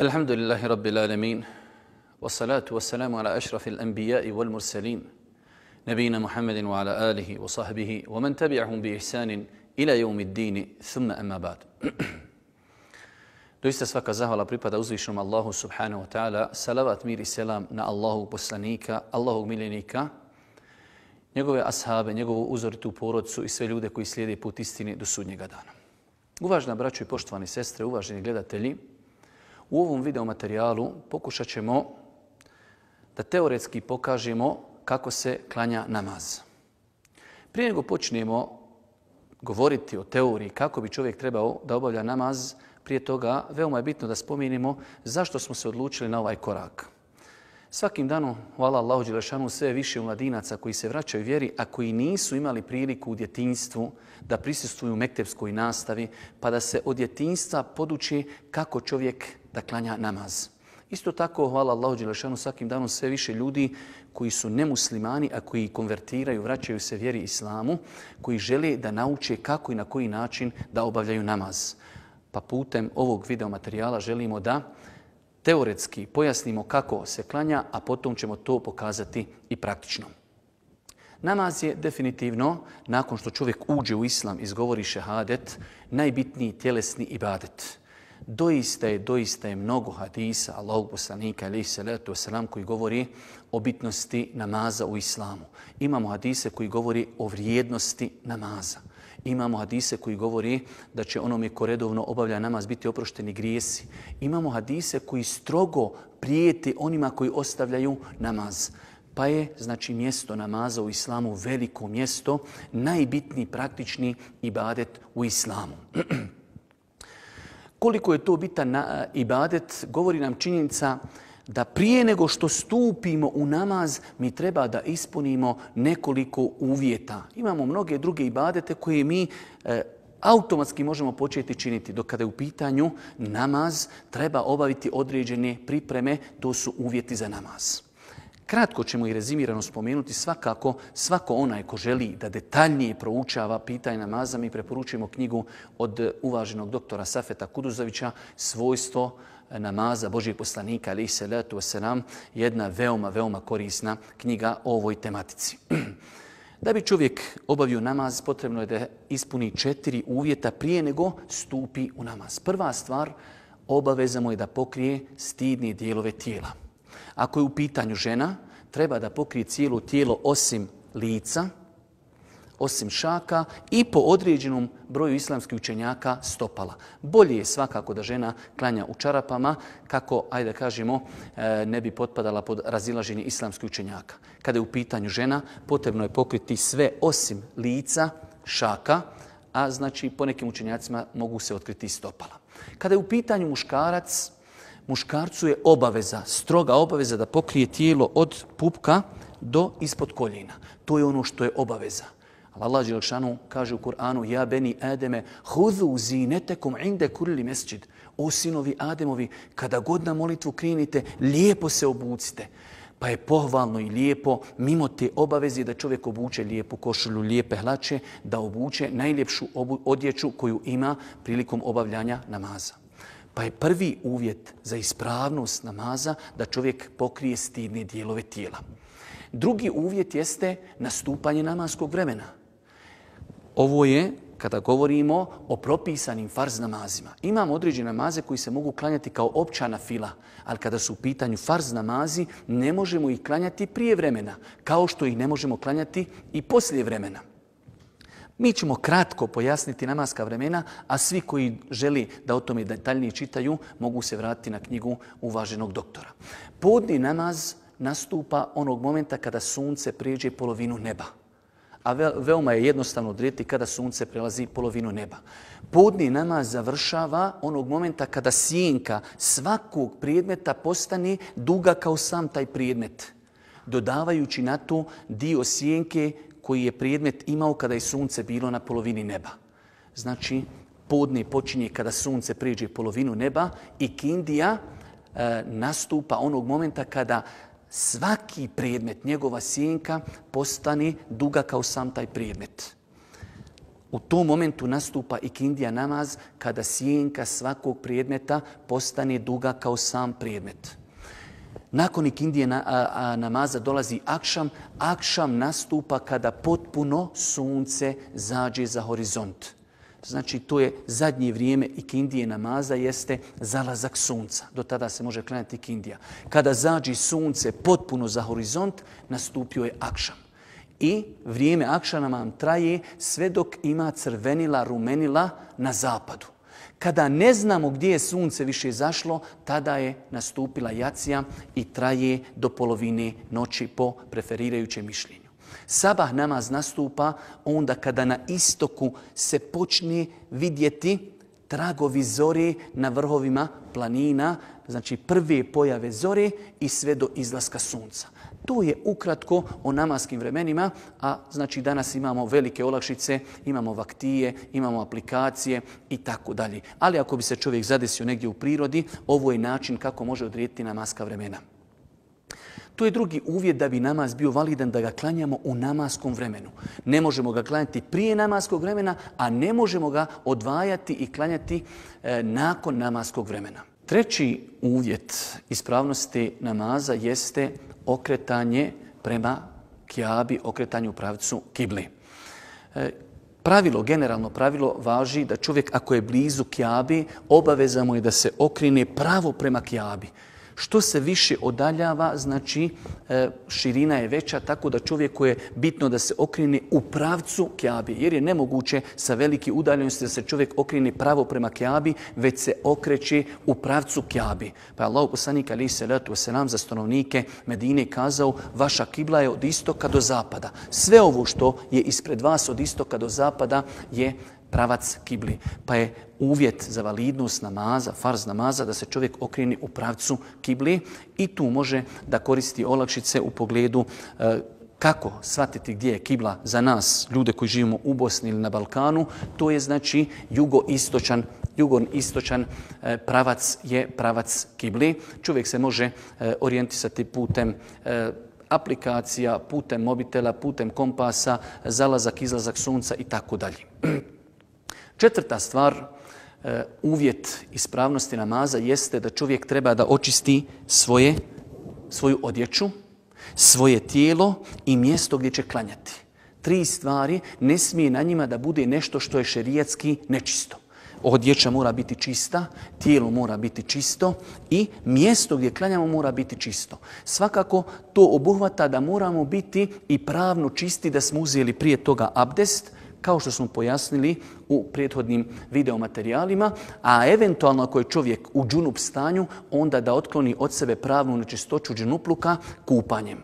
Alhamdulillahi Rabbil Alamin, wassalatu wassalamu ala ašrafil anbiya'i wal mursalin, nabijina Muhammedin wa ala alihi wa sahbihi, wa man tabi'ahum bi ihsanin ila yawmiddini, thumma amma ba'd. Doista svaka zahvala pripada uzvišenom Allahu subhanahu wa ta'ala, salavat, mir i selam na Allahovog poslanika, Allahovog miljenika, njegove ashabe, njegovu uzoritu porodcu i sve ljude koji slijede put istine do sudnjega dana. Uvažena braćo i poštovani sestre, uvaženi gledatelji, u ovom video materijalu pokušat ćemo da teoretski pokažemo kako se klanja namaz. Prije nego počnemo govoriti o teoriji kako bi čovjek trebao da obavlja namaz, prije toga veoma je bitno da spomenemo zašto smo se odlučili na ovaj korak. Svakim danom, hvala Allahu dželešanu, sve više mladinaca koji se vraćaju vjeri, a koji nisu imali priliku u djetinjstvu da prisustvuju mektepskoj nastavi, pa da se od djetinjstva poduči kako čovjek da klanja namaz. Isto tako, hvala Allahu dželešanu, svakim danom sve više ljudi koji su nemuslimani, a koji konvertiraju, vraćaju se vjeri islamu, koji žele da nauče kako i na koji način da obavljaju namaz. Pa putem ovog video materijala želimo da teoretski pojasnimo kako se klanja, a potom ćemo to pokazati i praktično. Namaz je definitivno, nakon što čovjek uđe u islam i izgovori šehadet, najbitniji tjelesni ibadet. Doista je mnogo hadisa Allahovog poslanika alejhi salatu vesselam koji govori o bitnosti namaza u islamu. Imamo hadise koji govori o vrijednosti namaza. Imamo hadise koji govori da će onome ko redovno obavlja namaz biti oprošteni grijesi. Imamo hadise koji strogo prijete onima koji ostavljaju namaz. Pa je, znači, mjesto namaza u islamu veliko mjesto, najbitniji praktični ibadet u islamu. Koliko je to bitan ibadet, govori nam činjenica da prije nego što stupimo u namaz, mi treba da ispunimo nekoliko uvjeta. Imamo mnoge druge ibadete koje mi automatski možemo početi činiti. Dok kada je u pitanju namaz, treba obaviti određene pripreme, to su uvjeti za namaz. Kratko ćemo i rezimirano spomenuti, svakako svako onaj ko želi da detaljnije proučava pitanje namaza, mi preporučujemo knjigu od uvaženog doktora Safeta Kuduzovića, Svojstvo namaza Božijeg poslanika alejhi salatu vesselam, jedna veoma korisna knjiga o ovoj tematici. Da bi čovjek obavio namaz, potrebno je da ispuni 4 uvjeta prije nego stupi u namaz. Prva stvar, obaveza mu je da pokrije stidne dijelove tijela. Ako je u pitanju žena, treba da pokrije cijelo tijelo osim lica, osim šaka i po određenom broju islamskih učenjaka stopala. Bolje je svakako da žena klanja u čarapama kako, ajde kažemo, ne bi potpadala pod razilaženje islamskih učenjaka. Kada je u pitanju žena, potrebno je pokriti sve osim lica, šaka, a znači po nekim učenjacima mogu se otkriti stopala. Kada je u pitanju muškarac, muškarcu je obaveza, stroga obaveza da pokrije tijelo od pupka do ispod koljena. To je ono što je obaveza. Allah dželešanu kaže u Kur'anu: Ja beni Ademe, hudu zinetekum inde kulli mesdžid. O sinovi Ademovi, kada god na molitvu krenite, lijepo se obucite. Pa je pohvalno i lijepo, mimo te obaveze, da čovjek obuče lijepu košulju, lijepe hlače, da obuče najljepšu odjeću koju ima prilikom obavljanja namaza. Pa je prvi uvjet za ispravnost namaza da čovjek pokrije stidne dijelove tijela. Drugi uvjet jeste nastupanje namaskog vremena. Ovo je kada govorimo o propisanim farz namazima. Imamo određene namaze koji se mogu klanjati kao opća nafila, ali kada su u pitanju farz namazi, ne možemo ih klanjati prije vremena, kao što ih ne možemo klanjati i poslije vremena. Mi ćemo kratko pojasniti namaska vremena, a svi koji želi da o tome detaljnije čitaju mogu se vratiti na knjigu uvaženog doktora. Podni namaz nastupa onog momenta kada sunce prijeđe polovinu neba. A veoma je jednostavno odrediti kada sunce prelazi polovinu neba. Podni namaz završava onog momenta kada sjenka svakog predmeta postane duga kao sam taj predmet, dodavajući na to dio sjenke koji je predmet imao kada je sunce bilo na polovini neba. Znači, podne počinje kada sunce prijeđe polovinu neba i kindija nastupa onog momenta kada svaki predmet, njegova sjenka, postane duga kao sam taj predmet. U tom momentu nastupa ikindija namaz kada sjenka svakog predmeta postane duga kao sam predmet. Nakon ikindije namaza dolazi akšam. Akšam nastupa kada potpuno sunce zađe za horizont. Znači, to je zadnje vrijeme ikindije namaza, jeste zalazak sunca. Do tada se može klanjati ikindija. Kada zađe sunce potpuno za horizont, nastupio je akšam. I vrijeme akšama nam traje sve dok ima crvenila, rumenila na zapadu. Kada ne znamo gdje je sunce više zašlo, tada je nastupila jacija i traje do polovine noći po preferirajućem mišljenju. Sabah namaz nastupa onda kada na istoku se počne vidjeti tragovi zore na vrhovima planina, znači prve pojave zore i sve do izlaska sunca. To je ukratko o namaskim vremenima, a znači danas imamo velike olakšice, imamo vaktije, imamo aplikacije i tako dalje. Ali ako bi se čovjek zadesio negdje u prirodi, ovo je način kako može odrediti namaska vremena. To je drugi uvjet da bi namaz bio validan, da ga klanjamo u namaskom vremenu. Ne možemo ga klanjati prije namaskog vremena, a ne možemo ga odvajati i klanjati nakon namaskog vremena. Treći uvjet ispravnosti namaza jeste okretanje prema Kjabi, okretanje u pravcu kibli. Generalno pravilo važi da čovjek ako je blizu Kjabi, obaveza mu je da se okrene pravo prema Kjabi. Što se više odaljava, znači širina je veća, tako da čovjeku je bitno da se okrene u pravcu Kjabi. Jer je nemoguće sa velike udaljenosti da se čovjek okrene pravo prema Kjabi, već se okreće u pravcu Kjabi. Pa je Allah poslanik alejhi selatu vesselam za stanovnike Medine kazao: vaša kibla je od istoka do zapada. Sve ovo što je ispred vas od istoka do zapada je pravac kibli. Pa je uvjet za validnost namaza, farz namaza, da se čovjek okrene u pravcu kibli i tu može da koristi olakšice u pogledu kako shvatiti gdje je kibla za nas, ljude koji živimo u Bosni ili na Balkanu. To je znači jugoistočan pravac je pravac kibli. Čovjek se može orijentisati putem aplikacija, putem mobitela, putem kompasa, zalazak, izlazak sunca i tako dalje. Četvrta stvar, uvjet ispravnosti namaza jeste da čovjek treba da očisti svoju odjeću, svoje tijelo i mjesto gdje će klanjati. 3 stvari, ne smije na njima da bude nešto što je šerijatski nečisto. Odjeća mora biti čista, tijelo mora biti čisto i mjesto gdje klanjamo mora biti čisto. Svakako to obuhvata da moramo biti i pravno čisti, da smo uzeli prije toga abdest, kao što smo pojasnili u prethodnim videomaterijalima, a eventualno ako je čovjek u džunup stanju, onda da otkloni od sebe pravnu nečistoću džunupluka kupanjem.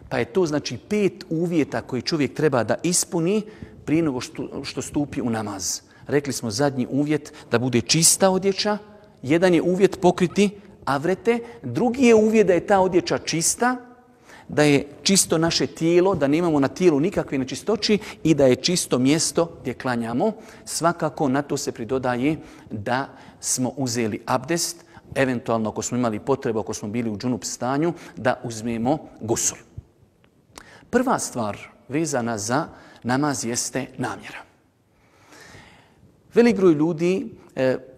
Pa je to znači 5 uvjeta koje čovjek treba da ispuni prije nego što stupi u namaz. Rekli smo zadnji uvjet da bude čista odjeća, jedan je uvjet pokriti avrete, drugi je uvjet da je ta odjeća čista, da je čisto naše tijelo, da nemamo na tijelu nikakve nečistoći i da je čisto mjesto gdje klanjamo. Svakako na to se pridodaje da smo uzeli abdest, eventualno ako smo imali potrebu, ako smo bili u džunup stanju, da uzmemo gusul. Prva stvar vezana za namaz jeste namjera. Velik broj ljudi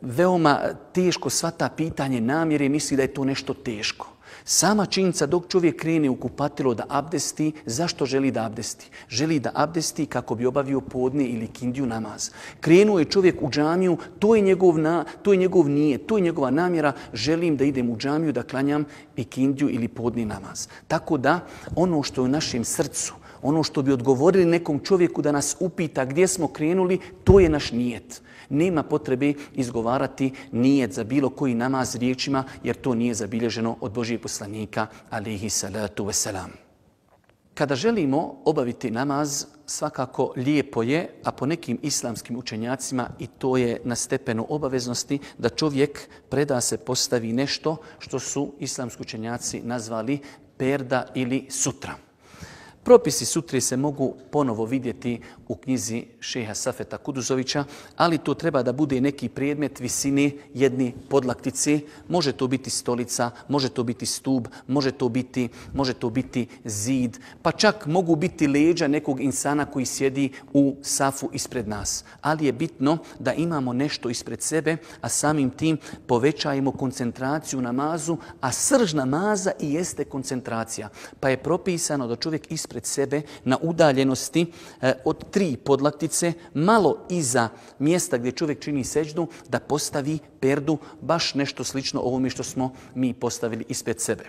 veoma teško shvata pitanje namjere i misli da je to nešto teško. Sama činjenica dok čovjek krene u kupatilo da abdesti, zašto želi da abdesti? Želi da abdesti kako bi obavio podne ili kindiju namaz. Krenuo je čovjek u džamiju, to je njegov nijet, to je njegova namjera, želim da idem u džamiju da klanjam i kindiju ili podni namaz. Tako da ono što je u našem srcu, ono što bi odgovorili nekom čovjeku da nas upita gdje smo krenuli, to je naš nijet. Nema potrebe izgovarati nijet za bilo koji namaz riječima, jer to nije zabilježeno od Božijeg poslanika, alejhi salatu vesselam. Kada želimo obaviti namaz, svakako lijepo je, a po nekim islamskim učenjacima i to je na stepenu obaveznosti, da čovjek preda se postavi nešto što su islamski učenjaci nazvali perda ili sutra. Propisi sutre se mogu ponovo vidjeti u knjizi šeha Safeta Kuduzovića, ali to treba da bude neki predmet visine jedne podlaktice. Može to biti stolica, može to biti stub, može to biti zid, pa čak mogu biti leđa nekog insana koji sjedi u safu ispred nas. Ali je bitno da imamo nešto ispred sebe, a samim tim povećajemo koncentraciju namazu, a srž namaza i jeste koncentracija. Pa je propisano da čovjek ispred sebe na udaljenosti od 3 podlaktice, malo iza mjesta gdje čovjek čini seđdu, da postavi perdu, baš nešto slično ovome što smo mi postavili ispred sebe.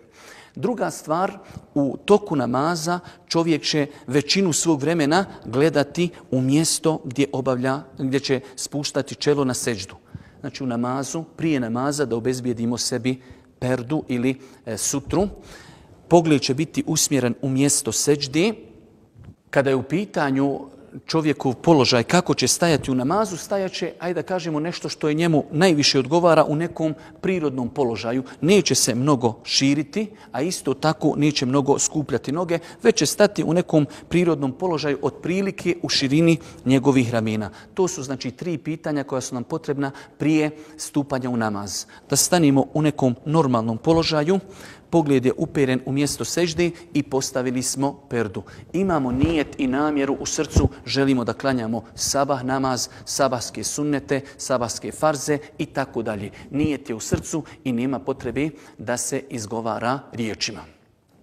Druga stvar, u toku namaza čovjek će većinu svog vremena gledati u mjesto gdje će spuštati čelo na seđdu. Znači u namazu, prije namaza da obezbijedimo sebi perdu ili sutru. Pogled će biti usmjeren u mjesto seđde. Kada je u pitanju čovjekov položaj kako će stajati u namazu, stajaće, ajde da kažemo, nešto što je njemu najviše odgovara u nekom prirodnom položaju. Neće se mnogo širiti, a isto tako neće mnogo skupljati noge, već će stati u nekom prirodnom položaju otprilike u širini njegovih ramena. To su znači 3 pitanja koja su nam potrebna prije stupanja u namaz. Da stanimo u nekom normalnom položaju, pogled je uperen u mjesto sežde i postavili smo perdu. Imamo nijet i namjeru u srcu, želimo da klanjamo sabah namaz, sabahske sunnete, sabahske farze i tako dalje. Nijet je u srcu i nema potrebe da se izgovara riječima.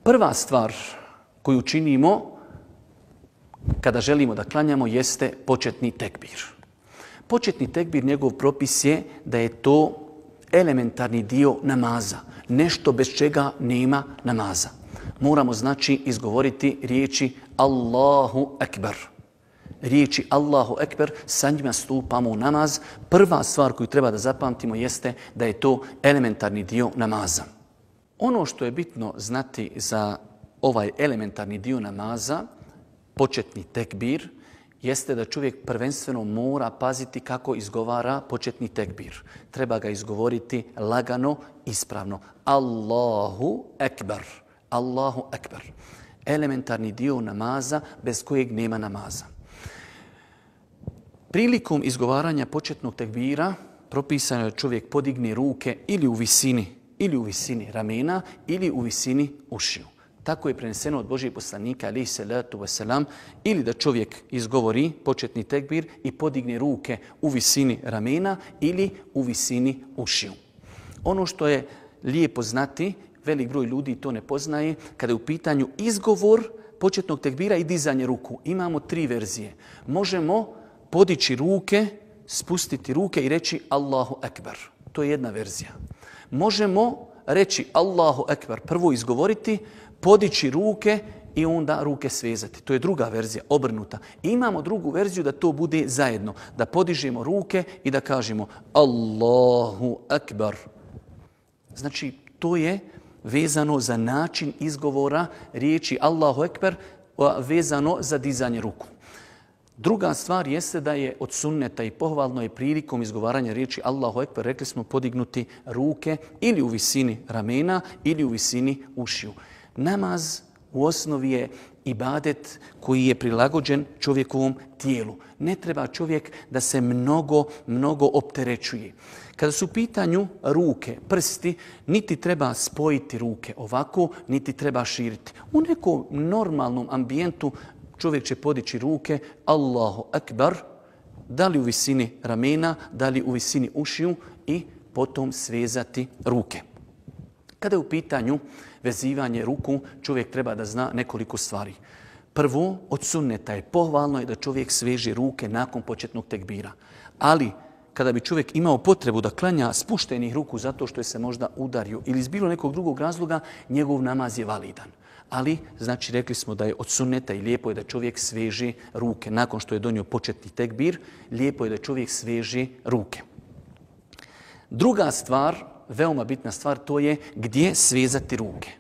Prva stvar koju činimo kada želimo da klanjamo jeste početni tekbir. Početni tekbir, njegov propis je da je to elementarni dio namaza. Nešto bez čega nema namaza. Moramo znači izgovoriti riječi Allahu Ekber. Riječi Allahu Ekber, sa njima stupamo u namaz. Prva stvar koju treba da zapamtimo jeste da je to elementarni dio namaza. Ono što je bitno znati za ovaj elementarni dio namaza, početni tekbir, jeste da čovjek prvenstveno mora paziti kako izgovara početni tekbir. Treba ga izgovoriti lagano, ispravno. Allahu Ekber. Allahu Ekber. Elementarni dio namaza bez kojeg nema namaza. Prilikom izgovaranja početnog tekbira propisano je da čovjek podigne ruke ili u visini ramena ili u visini ušiju. Tako je preneseno od Božijeg poslanika, alejhi salatu vesselam, ili da čovjek izgovori početni tekbir i podigne ruke u visini ramena ili u visini ušiju. Ono što je lijepo znati, velik broj ljudi to ne poznaje, kada je u pitanju izgovor početnog tekbira i dizanje ruku. Imamo 3 verzije. Možemo podići ruke, spustiti ruke i reći Allahu Ekber. To je jedna verzija. Možemo reći Allahu Ekber, prvo izgovoriti, podići ruke i onda ruke svezati. To je druga verzija, obrnuta. I imamo drugu verziju da to bude zajedno. Da podižemo ruke i da kažemo Allahu Ekber. Znači, to je vezano za način izgovora riječi Allahu Ekber, vezano za dizanje ruku. Druga stvar jeste da je od sunneta i pohvalno je prilikom izgovaranja riječi Allahu Ekber, rekli smo, podignuti ruke ili u visini ramena ili u visini ušiju. Namaz u osnovi je ibadet koji je prilagođen čovjekovom tijelu. Ne treba čovjek da se mnogo opterećuje. Kada su u pitanju ruke, prsti, niti treba spojiti ruke ovako, niti treba širiti. U nekom normalnom ambijentu čovjek će podići ruke, Allahu Ekber, da li u visini ramena, da li u visini ušiju i potom svezati ruke. Kada je u pitanju vezivanje ruku, čovjek treba da zna nekoliko stvari. Prvo, od sunneta je pohvalno je da čovjek sveže ruke nakon početnog tekbira. Ali, kada bi čovjek imao potrebu da klanja spuštenih ruku zato što je se možda udario ili iz bilo nekog drugog razloga, njegov namaz je validan. Ali, znači, rekli smo da je od sunneta i lijepo je da čovjek sveže ruke. Nakon što je donio početni tekbir, lijepo je da čovjek sveže ruke. Druga stvar, veoma bitna stvar, to je gdje svezati ruke.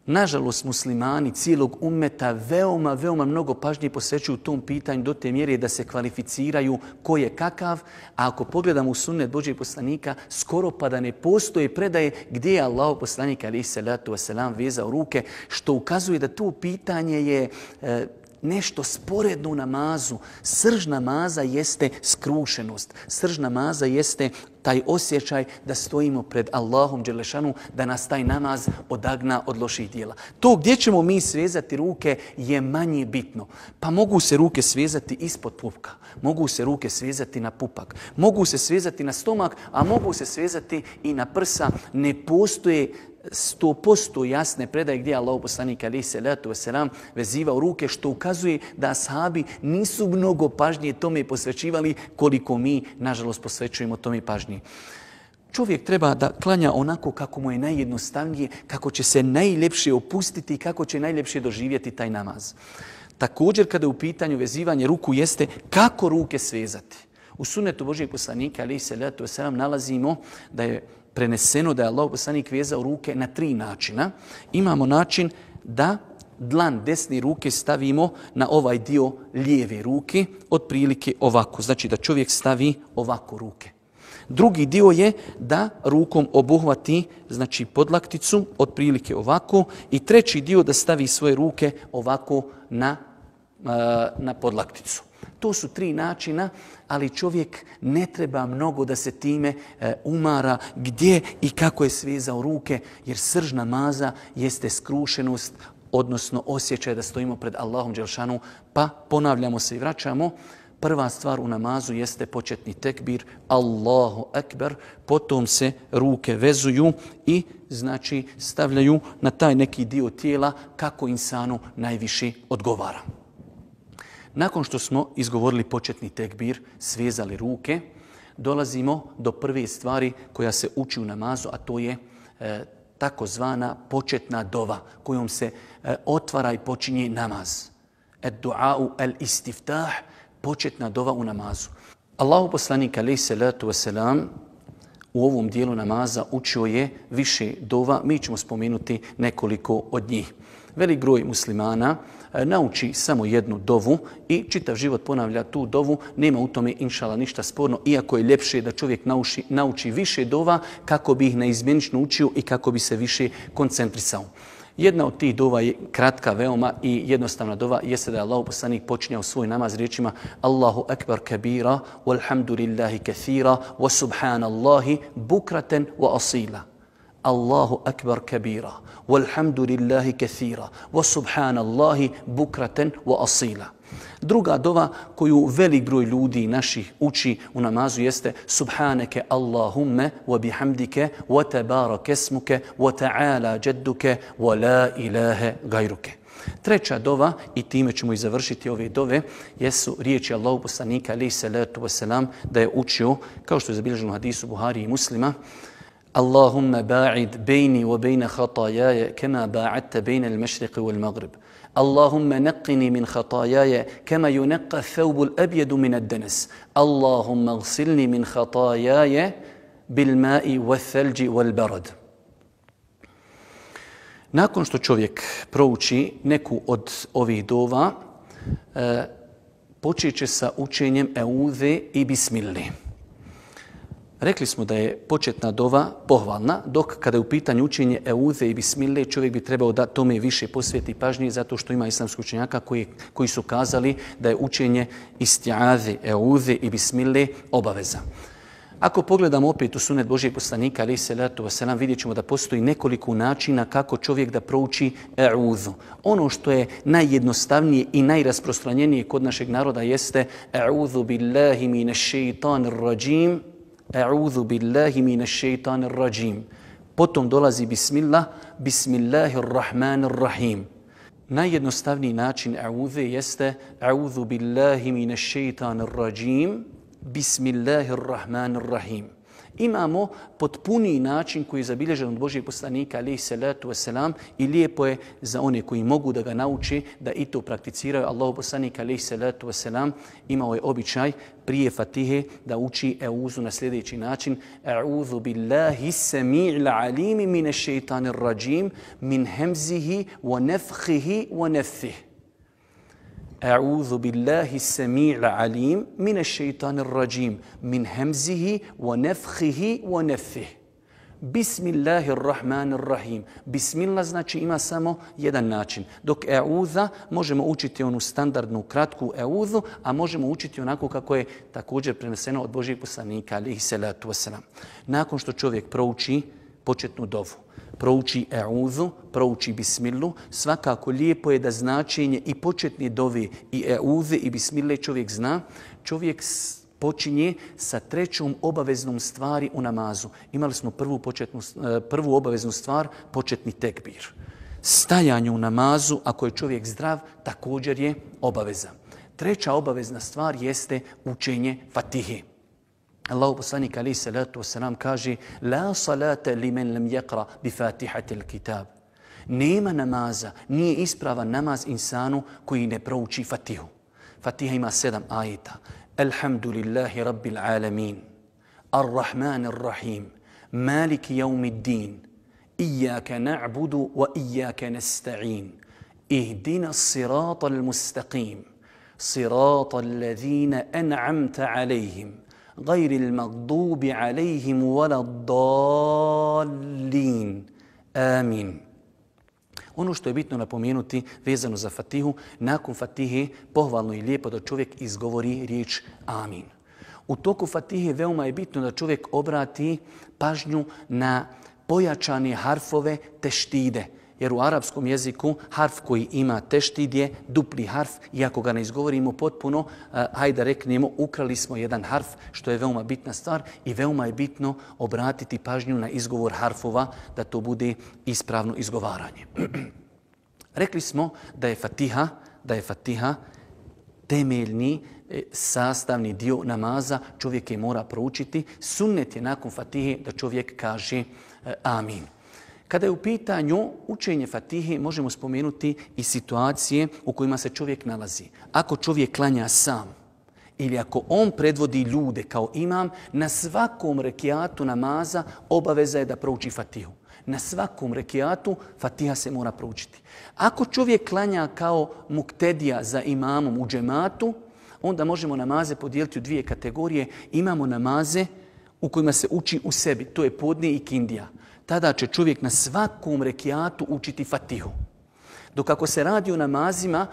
Nažalost, muslimani cijelog ummeta veoma mnogo pažnje posvećuju tom pitanju do te mjere da se kvalificiraju ko je kakav, a ako pogledamo u sunnet Božjeg poslanika, skoro pa da ne postoje predaje gdje je Allahov poslanik alejhi salatu vesselam vezao ruke, što ukazuje da to pitanje je nešto sporedno u namazu. Srž namaza jeste skrušenost. Srž namaza jeste taj osjećaj da stojimo pred Allahom dželešanu, da nas taj namaz odagna od loših djela. To gdje ćemo mi svezati ruke je manje bitno. Pa mogu se ruke svezati ispod pupka, mogu se ruke svezati na pupak, mogu se svezati na stomak, a mogu se svezati i na prsa. Ne postoje 100% jasne predaje gdje je Allahov poslanik alejhi salatu vesselam vezivao ruke, što ukazuje da ashabi nisu mnogo pažnje tome posvećivali koliko mi, nažalost, posvećujemo tome pažnje. Čovjek treba da klanja onako kako mu je najjednostavnije, kako će se najljepše opustiti i kako će najljepše doživjeti taj namaz. Također, kada je u pitanju vezivanje ruku, jeste kako ruke svezati. U sunnetu Božjeg poslanika alejhi salatu vesselam nalazimo da je preneseno da je Allahov poslanik vezao ruke na 3 načina. Imamo način da dlan desne ruke stavimo na ovaj dio lijeve ruke, otprilike ovako. Znači da čovjek stavi ovako ruke. Drugi dio je da rukom obuhvati, znači, podlakticu, otprilike ovako. I treći dio da stavi svoje ruke ovako na podlakticu. To su 3 načina, ali čovjek ne treba mnogo da se time umara gdje i kako je svezao ruke, jer srž namaza jeste skrušenost, odnosno osjećaj da stojimo pred Allahom dželešanu, pa ponavljamo se i vraćamo. Prva stvar u namazu jeste početni tekbir, Allahu ekber, potom se ruke vezuju i, znači, stavljaju na taj neki dio tijela kako insanu najviše odgovara. Nakon što smo izgovorili početni tekbir, svezali ruke, dolazimo do prve stvari koja se uči u namazu, a to je takozvana početna dova kojom se otvara i počinje namaz. Ad-du'a'u al-istiftah, početna dova u namazu. Allahov poslanik alejhi salatu vesselam u ovom dijelu namaza učio je više dova, mi ćemo spomenuti nekoliko od njih. Velik broj muslimana nauči samo jednu dovu i čitav život ponavlja tu dovu. Nema u tome, inšala, ništa sporno, iako je ljepše da čovjek nauči više dova kako bi ih naizmjenično učio i kako bi se više koncentrisao. Jedna od tih dova je kratka veoma i jednostavna dova, jeste da je Allahov poslanik počinjao svoj namaz riječima Allahu ekber kabira, walhamdulillahi kathira, wa subhanallahi bukraten wa asila. Allahu akbar kabira, walhamdulillahi kathira, wa subhanallahi bukraten wa asila. Druga dova koju velik broj ljudi naših uči u namazu jeste Subhaneke Allahumme wa bihamdike wa tabarak esmuke wa ta'ala jadduke wa la ilahe gajruke. Treća dova, i time ćemo i završiti ove dove, jesu riječi Allahov poslanika alejhi salatu vesselam da je učio, kao što je zabilježeno u hadisu Buhari i Muslima, Allahumma ba'id bejni wa bejna khatajaja kema ba'adta bejna al-mašriqi wal-maghrib. Allahumma naqqini min khatajaja kama yunaqqa thawbu al-abyadu min ad-danas. Allahumma ghsilni min khatajaja bil-ma'i wath-thalji wal-barad. Nakon što čovjek prouči neku od ovih dova, počeće sa učenjem Eudhe i Bismillah. Rekli smo da je početna dova pohvalna, dok kada je u pitanju učenje Eudhe i Bismillah, čovjek bi trebao da tome više posveti pažnje, zato što ima islamskih učenjaka koji su kazali da je učenje isti'adhe, Eudhe i Bismillah obaveza. Ako pogledamo opet u sunnet Božijeg poslanika, alejhi salatu vesselam, vidjet ćemo da postoji nekoliko načina kako čovjek da prouči Eudhu. Ono što je najjednostavnije i najrasprostranjenije kod našeg naroda jeste Eudhu billahi minash šeitanir rajim, A'udhu billahi minash shaitanir rajim. Potom dolazi Bismillah, Bismillahirrahmanirrahim. Najjednostavniji način A'udhe jeste A'udhu billahi minash shaitanir rajim, Bismillahirrahmanirrahim. Imamo potpuniji način koji je zabilježen od Božijeg poslanika, alejhi salatu vesselam, i lijepo je za one koji mogu da ga nauče da i to prakticiraju. Allahov poslanik, alejhi salatu vesselam, imao je običaj prije Fatihe da uči euzu na sljedeći način: A'udhu billahi sami'il alimi minash shaitanir rajim min hamzihi wa nafthihi wa nafthihi. أعوذ بالله السميع العليم من الشيطان الرجيم من همزه ونفخه ونفثه. بسم الله الرحمن الرحيم. بسم الله znači ima samo jedan način. Dok e'udha možemo učiti onu standardnu kratku e'udhu, a možemo učiti onako kako je također preneseno od Božijeg poslanika, alejhi salatu vesselam. Nakon što čovjek prouči početnu dovu, prouči e'udhu, prouči bismillu, svakako lijepo je da značenje i početne dove i e'udhe i bismille čovjek zna. Čovjek počinje sa trećom obaveznom stvari u namazu. Imali smo prvu obaveznu stvar, početni tekbir. Stajanje u namazu, ako je čovjek zdrav, također je obaveza. Treća obavezna stvar jeste učenje Fatihe. Allahu poslanik alejhi salatu vesselam kaže: La salata limen lam yaqra bi Fatihatil kitab. Nema namaza, nije ispravan namaz insanu koji ne prouči Fatihu. Fatiha ima 7 ajeta. Alhamdulillahi rabbil alamin, ar-Rahmanir rahim, Maliki yawmiddin, Iyyaka na'budu wa iyyaka nasta'in, Ihdina as-siratal mustaqim, siratal ladzina an'amta alayhim, غير المغضوب عليهم ولا الضالين. Amin. Ono što je bitno napomenuti vezano za Fatihu, nakon Fatihe pohvalno i lijepo da čovjek izgovori riječ amin. U toku Fatihe veoma je bitno da čovjek obrati pažnju na pojačane harfove teštide. Jer u arapskom jeziku harf koji ima teštid je dupli harf i ako ga ne izgovorimo potpuno, hajde reknemo, ukrali smo jedan harf, što je veoma bitna stvar i veoma je bitno obratiti pažnju na izgovor harfova da to bude ispravno izgovaranje. Rekli smo da je Fatiha temeljni sastavni dio namaza, čovjek je mora proučiti. Sunnet je nakon Fatihe da čovjek kaže amin. Kada je u pitanju učenje Fatihe, možemo spomenuti i situacije u kojima se čovjek nalazi. Ako čovjek klanja sam ili ako on predvodi ljude kao imam, na svakom rekiatu namaza obaveza je da prouči Fatihu. Na svakom rekiatu Fatiha se mora proučiti. Ako čovjek klanja kao muktedija za imamom u džematu, onda možemo namaze podijeliti u dvije kategorije. Imamo namaze u kojima se uči u sebi, to je podne i kindija. Tada će čovjek na svakom rekiatu učiti Fatihu. Dok ako se radi o namazima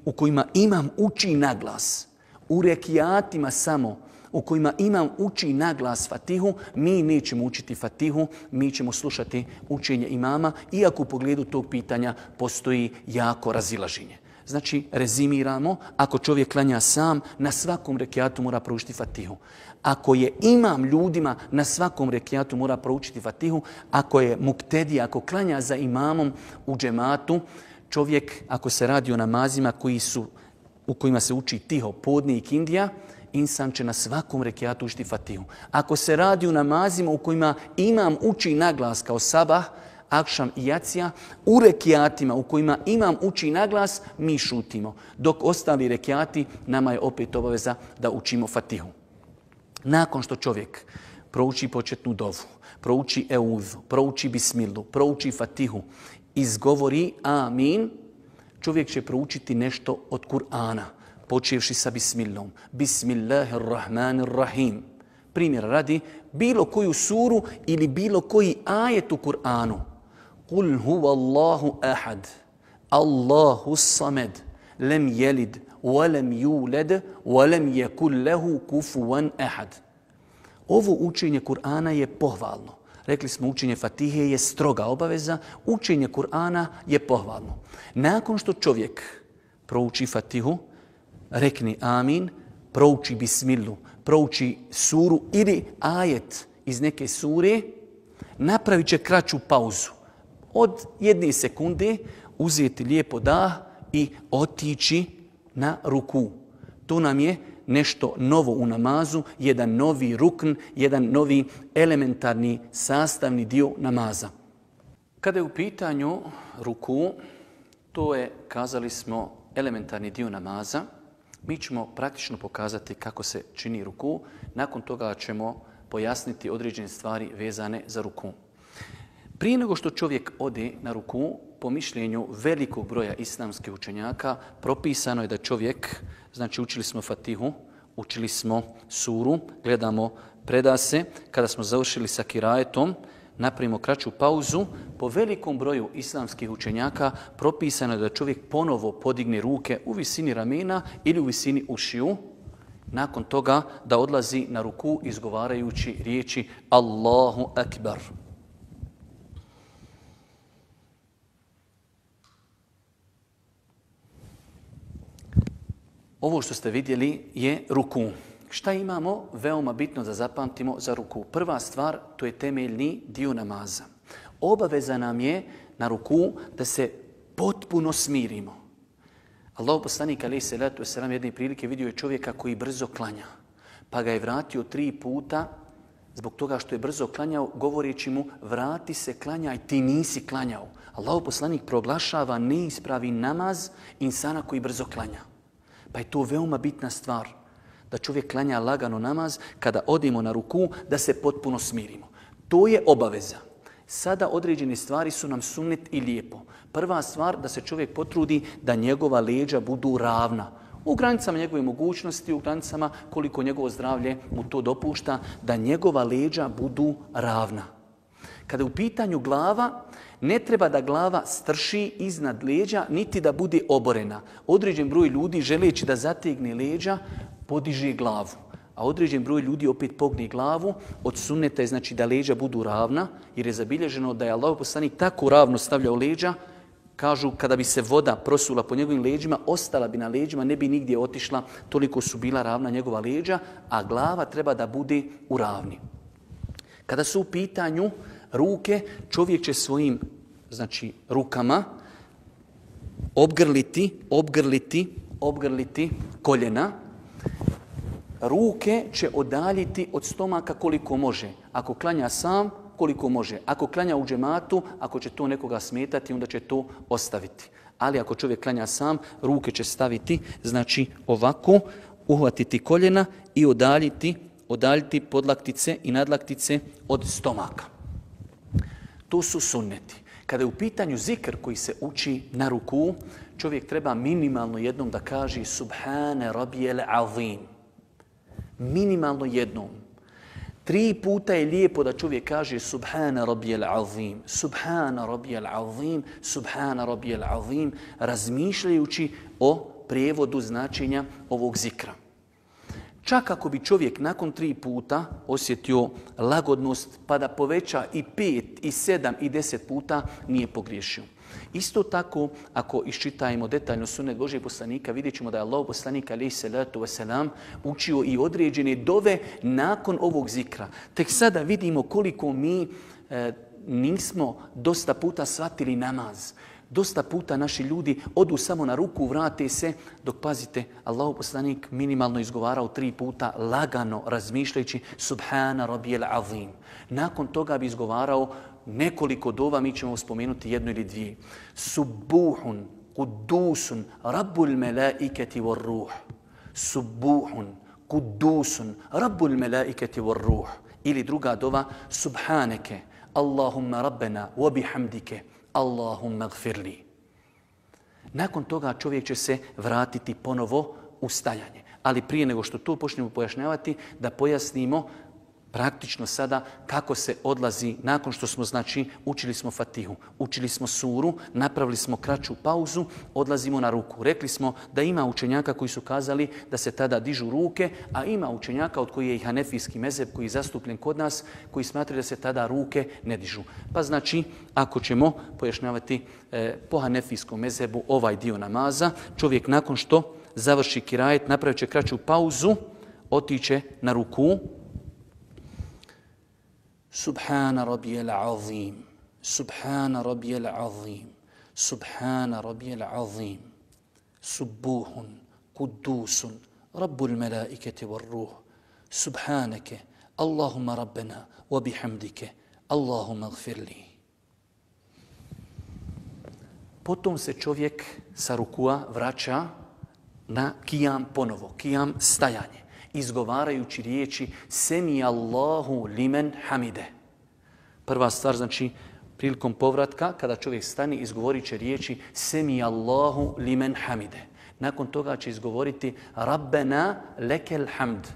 u kojima imam uči naglas, u rekiatima samo u kojima imam uči naglas Fatihu, mi nećemo učiti Fatihu, mi ćemo slušati učenje imama, iako u pogledu tog pitanja postoji jako razilaženje. Znači, rezimiramo, ako čovjek klanja sam, na svakom rekiatu mora proučiti Fatihu. Ako je imam ljudima, na svakom rekiatu mora proučiti Fatihu. Ako je muktedija, ako klanja za imamom u džematu, čovjek, ako se radi o namazima u kojima se uči tiho, podne i kindija, insan će na svakom rekiatu učiti Fatihu. Ako se radi o namazima u kojima imam uči naglas kao sabah, akšam i jacija, u rekiatima u kojima imam uči naglas, mi šutimo. Dok ostali rekiati, nama je opet obaveza da učimo Fatihu. Nakon što čovjek prouči početnu dovu, prouči eudhu, prouči bismilu, prouči Fatihu, izgovori amin, čovjek će proučiti nešto od Kur'ana, počevši sa bismilom. Bismillahirrahmanirrahim. Primjer radi, bilo koju suru ili bilo koji ajet u Kur'anu. Kul huvallahu ahad, Allahu samed, lem jelid, وَلَمْ يُولَدْ وَلَمْ يَكُلْ لَهُ كُفُوًا أَحَدٌ. Ovo učenje Kur'ana je pohvalno. Rekli smo učenje Fatihe je stroga obaveza, učenje Kur'ana je pohvalno. Nakon što čovjek prouči Fatihu, rekni amin, prouči bismilu, prouči suru ili ajet iz neke sure, napravit će kraću pauzu. Od 1 sekunde uzeti lijepo dah i otići na ruku. To nam je nešto novo u namazu, jedan novi rukn, jedan novi elementarni sastavni dio namaza. Kada je u pitanju ruku, to je, kazali smo, elementarni dio namaza. Mi ćemo praktično pokazati kako se čini ruku. Nakon toga ćemo pojasniti određene stvari vezane za ruku. Prije nego što čovjek ode na ruku, po mišljenju velikog broja islamskih učenjaka, propisano je da čovjek, znači učili smo Fatihu, učili smo suru, gledamo predase, kada smo završili sa kirajetom, napravimo kraću pauzu. Po velikom broju islamskih učenjaka propisano je da čovjek ponovo podigne ruke u visini ramena ili u visini ušiju. Nakon toga da odlazi na ruku izgovarajući riječi Allahu Akbar. Ovo što ste vidjeli je ruku. Šta imamo veoma bitno da zapamtimo za ruku? Prva stvar, to je temeljni dio namaza. Obaveza nam je na ruku da se potpuno smirimo. Allahov poslanik alejhi selatu vesselam jedne prilike vidio je čovjeka koji brzo klanja, pa ga je vratio 3 puta zbog toga što je brzo klanjao, govoreći mu vrati se, klanjaj, ti nisi klanjao. Allahov poslanik proglašava neispravi namaz insana koji brzo klanja. Pa je to veoma bitna stvar, da čovjek klanja lagano namaz, kada odemo na ruku, da se potpuno smirimo. To je obaveza. Sada određene stvari su nam sunnet i lijepo. Prva stvar, da se čovjek potrudi da njegova leđa budu ravna. U granicama njegove mogućnosti, u granicama koliko njegovo zdravlje mu to dopušta, da njegova leđa budu ravna. Kada je u pitanju glava, ne treba da glava strši iznad leđa, niti da bude oborena. Određen broj ljudi, želeći da zategne leđa, podiže glavu. A određen broj ljudi opet pogne glavu. Od sunneta je znači da leđa budu ravna, jer je zabilježeno da je Allahov poslanik tako ravno stavljao leđa. Kažu, kada bi se voda prosula po njegovim leđima, ostala bi na leđima, ne bi nigdje otišla, toliko su bila ravna njegova leđa, a glava treba da bude u ravni. Kada su u pitanju ruke, čovjek će svojim rukama obgrliti koljena. Ruke će odaljiti od stomaka koliko može. Ako klanja sam, koliko može. Ako klanja u džematu, ako će to nekoga smetati, onda će to ostaviti. Ali ako čovjek klanja sam, ruke će staviti, znači ovako, uhvatiti koljena i odaljiti podlaktice i nadlaktice od stomaka. To su sunneti. Kada je u pitanju zikr koji se uči na ruku, čovjek treba minimalno jednom da kaže Subhane Rabbijel Azim. Minimalno jednom. 3 puta je lijepo da čovjek kaže Subhana Rabbijel Azim, Subhana Rabbijel Azim, Subhana Rabbijel Azim, razmišljajući o prijevodu značenja ovog zikra. Čak ako bi čovjek nakon 3 puta osjetio lagodnost, pa da poveća i 5, i 7, i 10 puta, nije pogriješio. Isto tako, ako iščitajemo detaljno sunnet Božijeg poslanika, vidjet ćemo da je Allahov poslanik alejhi selatu vesselam učio i određene dove nakon ovog zikra. Tek sada vidimo koliko mi nismo dosta puta shvatili namaz. Dosta puta naši ljudi odu samo na ruku, vrate se, dok pazite, Allahov poslanik minimalno izgovarao 3 puta lagano razmišljajući Subhana Rabbijel Azim. Nakon toga bi izgovarao nekoliko dova, mi ćemo spomenuti 1 ili 2. Subuhun, kudusun, rabbul melaiketi war ruh. Subuhun, kudusun, rabbul melaiketi war ruh. Ili druga dova, Subhaneke, Allahumma rabbena, wa bihamdike, Allahumma gfirli. Nakon toga čovjek će se vratiti ponovo u stajanje. Ali prije nego što to počnemo pojašnjavati, da pojasnimo praktično sada kako se odlazi nakon što smo, učili smo Fatihu, učili smo suru, napravili smo kraću pauzu, odlazimo na ruku. Rekli smo da ima učenjaka koji su kazali da se tada dižu ruke, a ima učenjaka od koji je i hanefijski mezheb koji je zastupljen kod nas, koji smatraju da se tada ruke ne dižu. Pa ako ćemo pojašnjavati po hanefijskom mezhebu ovaj dio namaza, čovjek nakon što završi kirajet, napravit će kraću pauzu, otiće na ruku. Subhana Rabbijel Azim, Subhana Rabbijel Azim, Subhana Rabbijel Azim, Subuhun, Kudusun, Rabbul melaiketi var ruh, subhaneke, Allahumma rabbena, wa bihamdike, Allahumma gfirli. Potom se čovjek sa rukua vraća na kijam ponovo, kijam stajanje, izgovarajući riječi Semi Allahu limen hamide. Prva stvar, znači, prilikom povratka, kada čovjek stani, izgovorit će riječi Semi Allahu limen hamide. Nakon toga će izgovoriti Rabbena lekel hamd.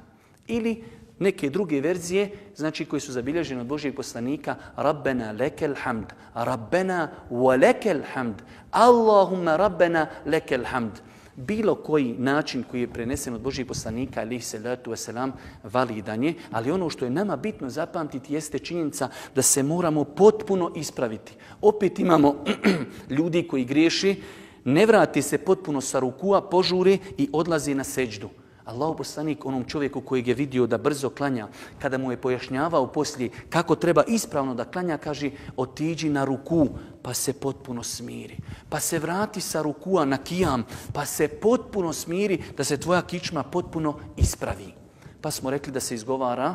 Ili neke druge verzije, znači koje su zabilježene od Božijeg poslanika, Rabbena lekel hamd, Rabbena wa lekel hamd, Allahumma Rabbena lekel hamd. Bilo koji način koji je prenesen od Božijeg poslanika, alejhi salatu vesselam, validan je, ali ono što je nama bitno zapamtiti jeste činjenica da se moramo potpuno ispraviti. Opet imamo ljudi koji griješi, ne vrati se potpuno sa rukua, požuri i odlazi na seđdu. Allahov poslanik onom čovjeku kojeg je vidio da brzo klanja, kada mu je pojašnjavao poslije kako treba ispravno da klanja, kaže otiđi na ruku pa se potpuno smiri. Pa se vrati sa rukua na kijam pa se potpuno smiri da se tvoja kičma potpuno ispravi. Pa smo rekli da se izgovara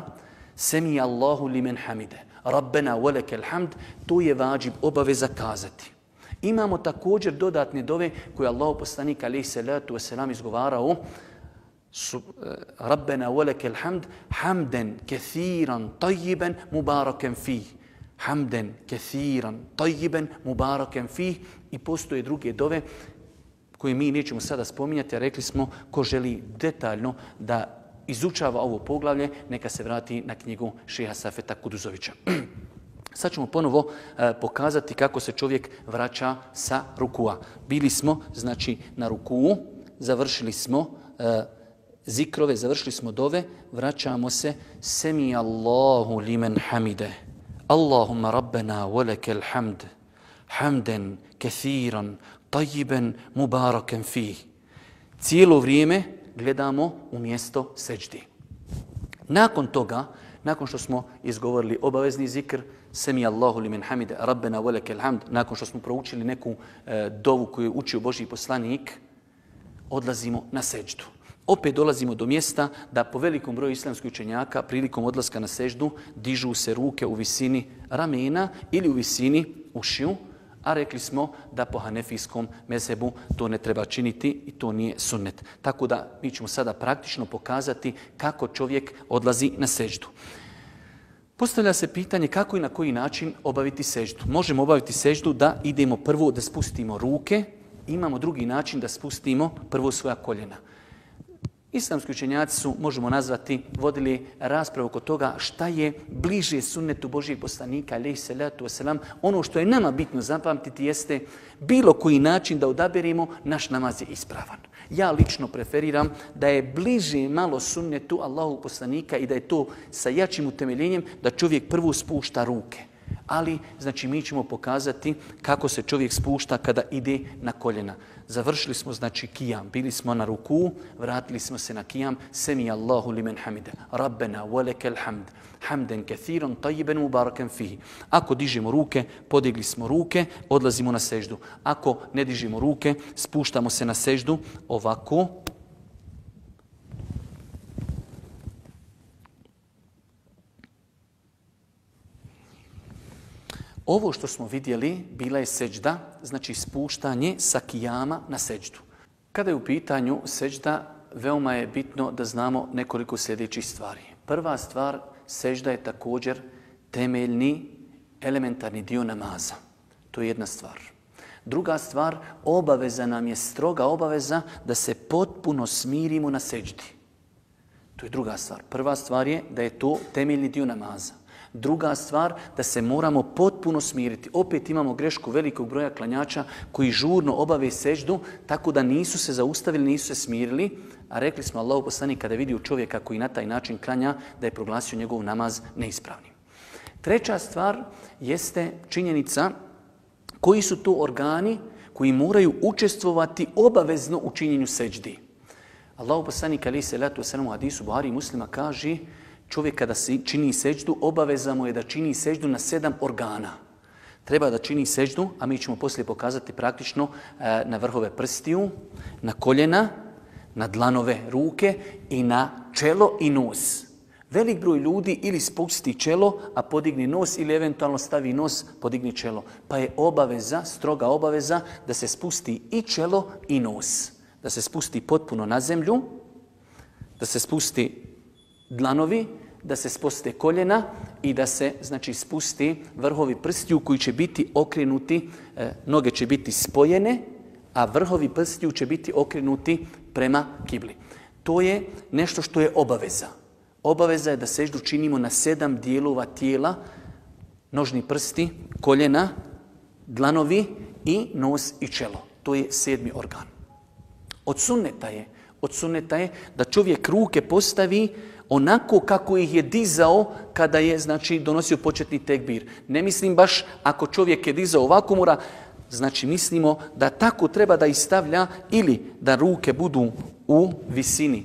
Semi Allahu limen hamide, Rabbena walekel hamd, to je vađib, obaveza kazati. Imamo također dodatne dove koje Allahov poslanik alejhi salatu vesselam izgovarao Rabbena walekel hamd, hamden kethiran tayyiban mubarakan fih. Hamden kethiran tayyiban mubarakan fih. I postoje druge dove koje mi nećemo sada spominjati, a rekli smo ko želi detaljno da izučava ovo poglavlje, neka se vrati na knjigu šeha Safeta Kuduzovića. Sad ćemo ponovo pokazati kako se čovjek vraća sa rukua. Bili smo, znači, na rukuu, završili smo zikrove, završili smo dove, vraćamo se Semi Allahu limen hamide, Allahumma rabbena walekel hamd, hamden kethiran, tayyiban mubarakan fih. Cijelo vrijeme gledamo u mjesto seđdi. Nakon toga, nakon što smo izgovorili obavezni zikr, Semi Allahu limen hamide, Rabbena walekel hamd, nakon što smo proučili neku dovu koju je učio Božji poslanik, odlazimo na seđdu. Opet dolazimo do mjesta da po velikom broju islamskih učenjaka prilikom odlaska na seždu dižu se ruke u visini ramena ili u visini ušiju, a rekli smo da po hanefijskom mezhebu to ne treba činiti i to nije sunnet. Tako da mi ćemo sada praktično pokazati kako čovjek odlazi na seždu. Postavlja se pitanje kako i na koji način obaviti seždu. Možemo obaviti seždu da idemo prvo da spustimo ruke, imamo drugi način da spustimo prvo svoja koljena. Islamski učenjaci su, možemo nazvati, vodili raspravu oko toga šta je bliže sunnetu Božijeg poslanika, alejhi salatu vesselam. Ono što je nama bitno zapamtiti jeste bilo koji način da odaberemo, naš namaz je ispravan. Ja lično preferiram da je bliže malo sunnetu Allahu poslanika i da je to sa jačim utemeljenjem da čovjek prvo spušta ruke. Ali, znači, mi ćemo pokazati kako se čovjek spušta kada ide na koljena. Završili smo, znači, kijam. Bili smo na ruku, vratili smo se na kijam. Semi Allahu limen hamide, Rabbena walekel hamd, hamden kethiran tayyiban mubarakan fihi. Ako dižemo ruke, podigli smo ruke, odlazimo na seždu. Ako ne dižemo ruke, spuštamo se na seždu ovako. Ovo što smo vidjeli bila je seđda, znači spuštanje sa kijama na seđdu. Kada je u pitanju seđda, veoma je bitno da znamo nekoliko sljedećih stvari. Prva stvar, seđda je također temeljni, elementarni dio namaza. To je jedna stvar. Druga stvar, obaveza nam je stroga obaveza da se potpuno smirimo na seđdi. To je druga stvar. Prva stvar je da je to temeljni dio namaza. Druga stvar, da se moramo potpuno smiriti. Opet imamo grešku velikog broja klanjača koji žurno obave seždu, tako da nisu se zaustavili, nisu se smirili. A rekli smo, Allahov poslanik kada je vidio čovjeka koji na taj način klanja, da je proglasio njegov namaz neispravnim. Treća stvar jeste činjenica koji su to organi koji moraju učestvovati obavezno u činjenju seždi. Allahov poslanik alejhi salatu vesselam u hadisu Buhari i Muslima kaže: čovjek kada čini seđdu, obaveza mu je da čini seđdu na 7 organa. Treba da čini seđdu, a mi ćemo poslije pokazati praktično na vrhove prstiju, na koljena, na dlanove ruke i na čelo i nos. Velik broj ljudi ili spusti čelo, a podigni nos, ili eventualno stavi nos, podigni čelo. Pa je obaveza, stroga obaveza, da se spusti i čelo i nos. Da se spusti potpuno na zemlju, da se spusti dlanovi, da se spuste koljena i da se spusti vrhovi prstiju koji će biti okrenuti, noge će biti spojene, a vrhovi prstiju će biti okrenuti prema kibli. To je nešto što je obaveza. Obaveza je da seždu činimo na 7 dijelova tijela, nožni prsti, koljena, dlanovi i nos i čelo. To je 7. organ. Od sunneta je da čovjek ruke postavi onako kako ih je dizao kada je donosio početni tekbir. Ne mislim baš ako čovjek je dizao ovako mora, mislimo da tako treba da istavlja ili da ruke budu u visini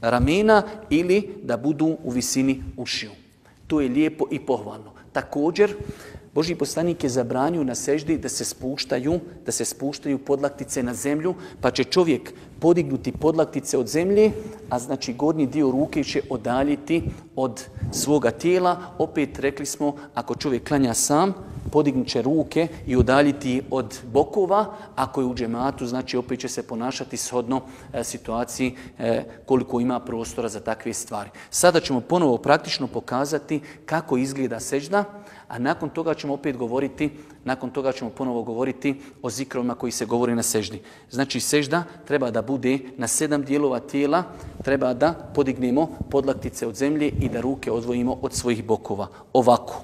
ramena ili da budu u visini ušiju. To je lijepo i pohvalno. Također, Božji poslanik je zabranio na seždi da se spuštaju podlaktice na zemlju, pa će čovjek podignuti podlaktice od zemlje, a gornji dio ruke će odaljiti od svoga tijela. Opet rekli smo, ako čovjek klanja sam, podignut će ruke i udaljiti od bokova. Ako je u džematu, opet će se ponašati shodno situaciji koliko ima prostora za takve stvari. Sada ćemo ponovo praktično pokazati kako izgleda sežda, a nakon toga ćemo ponovo govoriti o zikrovima koji se govori na seždi. Sežda treba da bude na 7 dijelova tijela, treba da podignemo podlaktice od zemlje i da ruke odvojimo od svojih bokova. Ovako.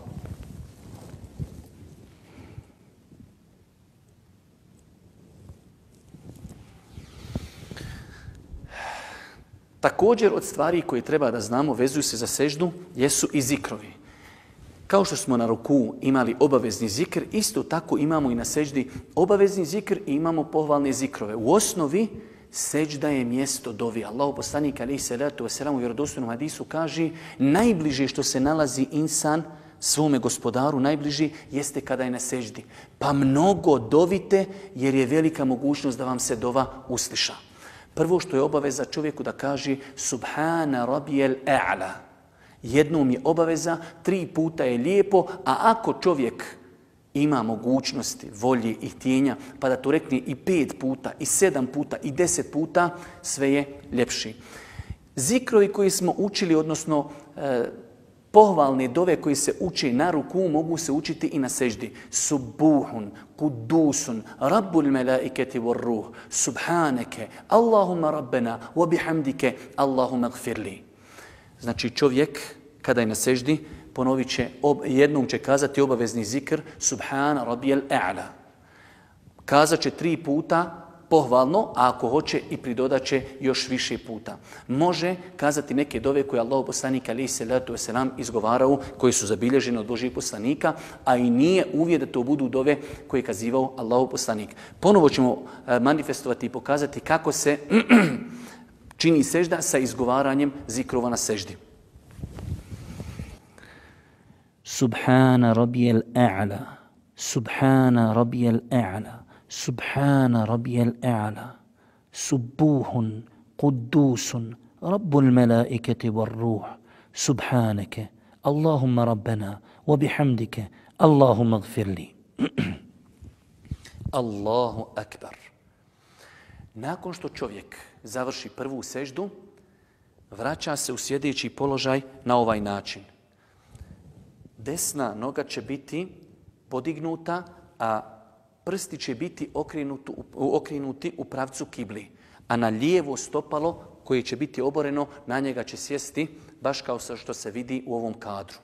Također od stvari koje treba da znamo vezuju se za seždu jesu i zikrovi. Kao što smo na ruku imali obavezni zikr, isto tako imamo i na seždi obavezni zikr i imamo pohvalne zikrove. U osnovi sežda je mjesto dovi. Allahu poslanik alejhi selatu vesselam u vjerodostojnom hadisu kaže najbliže što se nalazi insan svome gospodaru, najbliži jeste kada je na seždi. Pa mnogo dovite jer je velika mogućnost da vam se dova usliša. Prvo što je obaveza čovjeku da kaže Subhana rabijel a'la. Jednom je obaveza, 3 puta je lijepo, a ako čovjek ima mogućnosti, volje i htjenja, pa da to rekne i 5 puta, i 7 puta, i 10 puta, sve je ljepši. Zikrovi koji smo učili, odnosno pohvalne dove koji se uče na ruku, mogu se učiti i na seždi. Subuhun, kudusun, rabbul melaiketi vor ruh, subhaneke, Allahumma rabbena, wa bihamdike, Allahumma gfirli. Čovjek, kada je na seždi, ponovit će, jednom će kazati obavezni zikr, Subhana rabijel a'la. Kazat će 3 puta pohvalno, a ako hoće i pridodat će još više puta. Može kazati neke dove koje Allahu poslanik alejhi selatu vesselam izgovarao, koji su zabilježene od Božjih poslanika, a i nije uvjet da to budu dove koje je kazivao Allahu poslanik. Ponovo ćemo manifestovati i pokazati kako se čini sežda sa izgovaranjem zikrova na seždi. Subhana rabijel a'la, Subhana rabijel a'la, Subhana rabijel a'la, Subuhun, Kudusun, Rabbul melaiketi var ruh, Subhaneke, Allahumma rabbena, wa bihamdike, Allahumma gfirli. Allahu akbar. Nakon što čovjek završi prvu seždu, vraća se u sjedeći položaj na ovaj način. Desna noga će biti podignuta, a prsti će biti okrenuti u pravcu kibli. A na lijevo stopalo koje će biti oboreno, na njega će sjesti baš kao što se vidi u ovom kadru.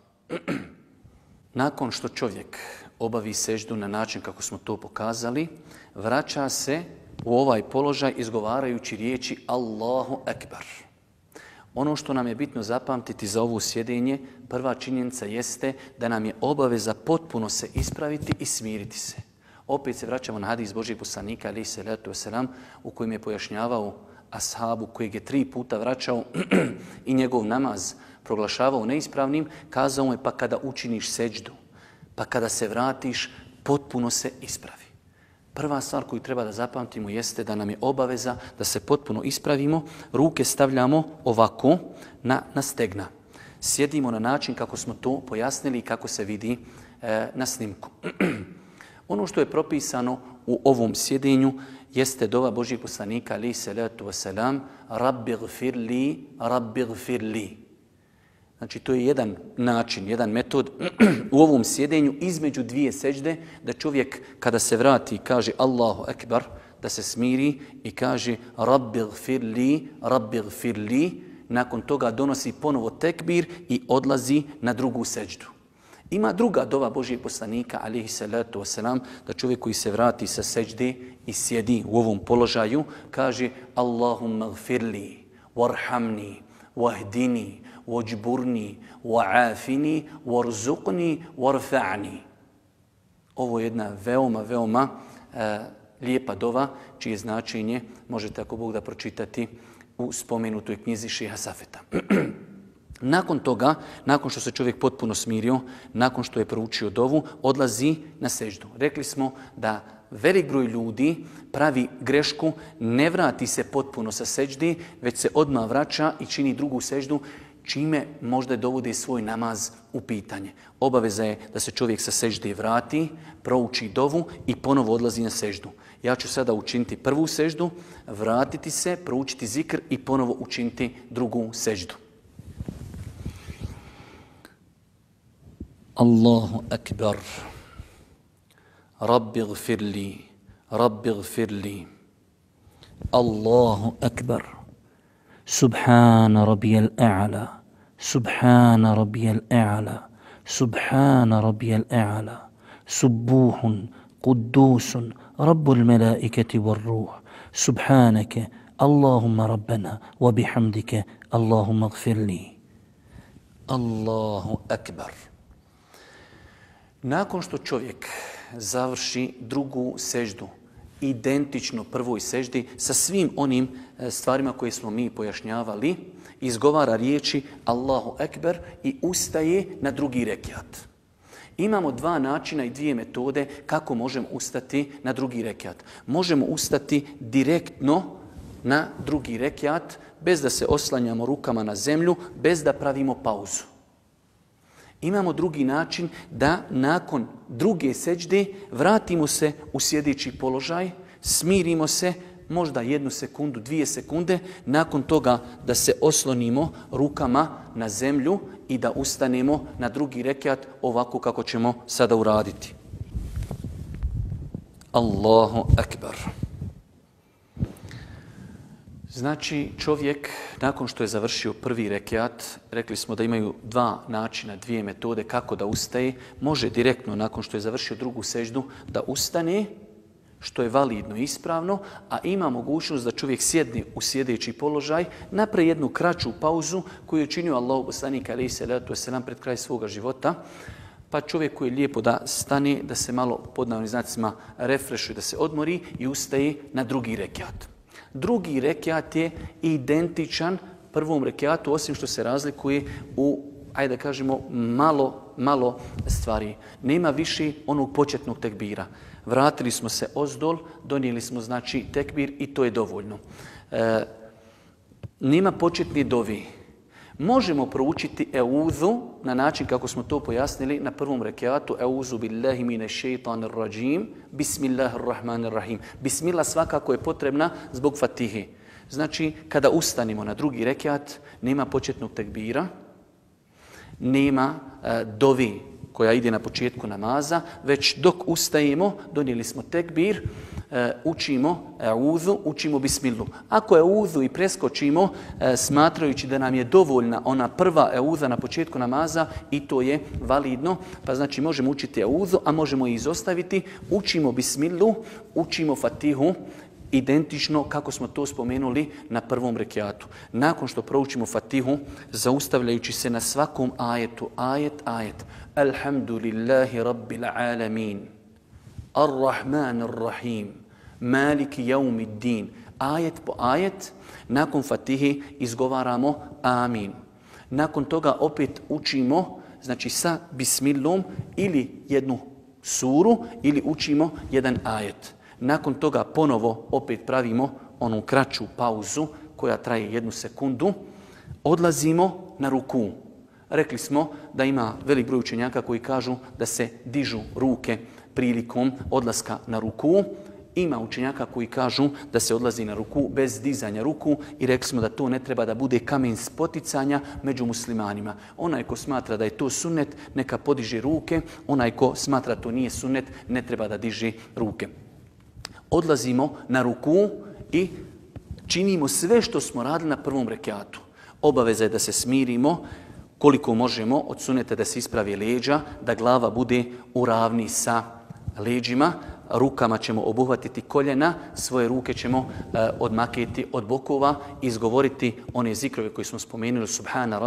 Nakon što čovjek obavi seždu na način kako smo to pokazali, vraća se u ovaj položaj izgovarajući riječi Allahu Ekber. Ono što nam je bitno zapamtiti za ovo sjedenje, prva činjenica jeste da nam je obaveza potpuno se ispraviti i smiriti se. Opet se vraćamo na hadis Božjeg poslanika alejhi selatu vesselam u kojem je pojašnjavao ashabu kojeg je 3 puta vraćao i njegov namaz proglašavao neispravnim, kazao mu je pa kada učiniš seđdu, pa kada se vratiš, potpuno se ispravi. Prva stvar koju treba da zapamtimo jeste da nam je obaveza da se potpuno ispravimo. Ruke stavljamo ovako na stegna. Sjedimo na način kako smo to pojasnili i kako se vidi na snimku. Ono što je propisano u ovom sjedenju jeste dova Božjeg poslanika alejhi salatu vesselam Rabbi gfirli, Rabbi gfirli. Znači to je jedan način, jedan metod u ovom sjedenju između dvije sećde da čovjek kada se vrati kaže Allahu ekber da se smiri i kaže Rabbi gfirli, Rabbi gfirli. Nakon toga donosi ponovo tekbir i odlazi na drugu sećdu. Ima druga dova Božjeg poslanika, alejhi salatu vesselam, da čovjek koji se vrati sa sećde i sjedi u ovom položaju, kaže Allahumma gfirli, warhamni, wahdini, wajburni, wa'afini, warzuqni, warfa'ni. Ovo je jedna veoma lijepa dova, čije značenje možete ako Bog da pročitati u spomenutoj knjizi Šeha Safeta. Nakon toga, nakon što se čovjek potpuno smirio, nakon što je proučio dovu, odlazi na seždu. Rekli smo da velik broj ljudi pravi grešku, ne vrati se potpuno sa seždi, već se odmah vraća i čini drugu seždu, čime možda dovodi svoj namaz u pitanje. Obaveza je da se čovjek sa sežde vrati, prouči dovu i ponovo odlazi na seždu. Ja ću sada učiniti prvu seždu, vratiti se, proučiti zikr i ponovo učiniti drugu seždu. Allahu akbar. Rabbi gfirli, Rabbi gfirli. Allahu akbar. Subhana rabbiyal a'la. Subhana rabbiyal a'la. Subhana rabbiyal a'la. Subbuhun, quddusun, rabbul malaikati war ruh. Subhanaka, Allahumma rabbana, wa bihamdika, Allahumma gfirli. Allahu akbar. Nakon što čovjek završi drugu seždu, identično prvoj seždi, sa svim onim stvarima koje smo mi pojašnjavali, izgovara riječi Allahu ekber i ustaje na drugi rekiat. Imamo dva načina i dvije metode kako možemo ustati na drugi rekiat. Možemo ustati direktno na drugi rekiat, bez da se oslanjamo rukama na zemlju, bez da pravimo pauzu. Imamo drugi način da nakon druge sećde vratimo se u sjedeći položaj, smirimo se možda 1 sekundu, 2 sekunde, nakon toga da se oslonimo rukama na zemlju i da ustanemo na drugi rekiat ovako kako ćemo sada uraditi. Allahu akbar. Znači čovjek nakon što je završio prvi rekiat, rekli smo da imaju dva načina, dvije metode kako da ustaje. Može direktno nakon što je završio drugu seždu da ustane, što je validno i ispravno, a ima mogućnost da čovjek sjedne u sjedeći položaj, napravi jednu kraću pauzu koju je činio Allahu poslanik alejhi salatu vesselam pred kraj svoga života. Pa čovjek koji je lijepo da stane, da se malo pod navodnim znacima refrešuje, da se odmori i ustaje na drugi rekiat. Drugi rekiat je identičan prvom rekiatu, osim što se razlikuje u, ajde da kažemo, malo stvari. Nema više onog početnog tekbira. Vratili smo se ozdol, donijeli smo znači tekbir i to je dovoljno. Nema početni dovi. Možemo proučiti euzu na način kako smo to pojasnili na prvom rekiatu. Euzu billahi mine šeitanir rajim, bismillahirrahmanirrahim. Bismillah svakako je potrebna zbog fatihe. Znači, kada ustanimo na drugi rekiat, nema početnog tekbira, nema dovi koja ide na početku namaza, već dok ustajemo, donijeli smo tekbir, učimo euzu, učimo bismillu. Ako euzu i preskočimo, smatrajući da nam je dovoljna ona prva euza na početku namaza, i to je validno, pa znači možemo učiti euzu, a možemo i izostaviti, učimo bismillu, učimo fatihu, identično kako smo to spomenuli na prvom rekiatu. Nakon što proučimo fatihu, zaustavljajući se na svakom ajetu, ajet, Alhamdulillahi rabbil alamin, Ar-Rahmanir-Rahim, Maliki jaumiddin. Ajet po ajet, nakon fatihe izgovaramo amin. Nakon toga opet učimo, znači sa bismillom ili jednu suru ili učimo jedan ajet. Nakon toga ponovo opet pravimo onu kraću pauzu koja traje 1 sekundu. Odlazimo na ruku. Rekli smo da ima velik broj učenjaka koji kažu da se dižu ruke prilikom odlaska na ruku. Ima učenjaka koji kažu da se odlazi na ruku bez dizanja ruku i rekli smo da to ne treba da bude kamen spoticanja među muslimanima. Onaj ko smatra da je to sunnet, neka podiže ruke. Onaj ko smatra da to nije sunnet, ne treba da diže ruke. Odlazimo na ruku i činimo sve što smo radili na prvom rekiatu. Obaveza je da se smirimo koliko možemo od sunneta da se ispravi leđa, da glava bude u ravni sa leđima. Rukama ćemo obuhvatiti koljena, svoje ruke ćemo odmaketi od bokova i izgovoriti one zikrove koje smo spomenuli, Subhana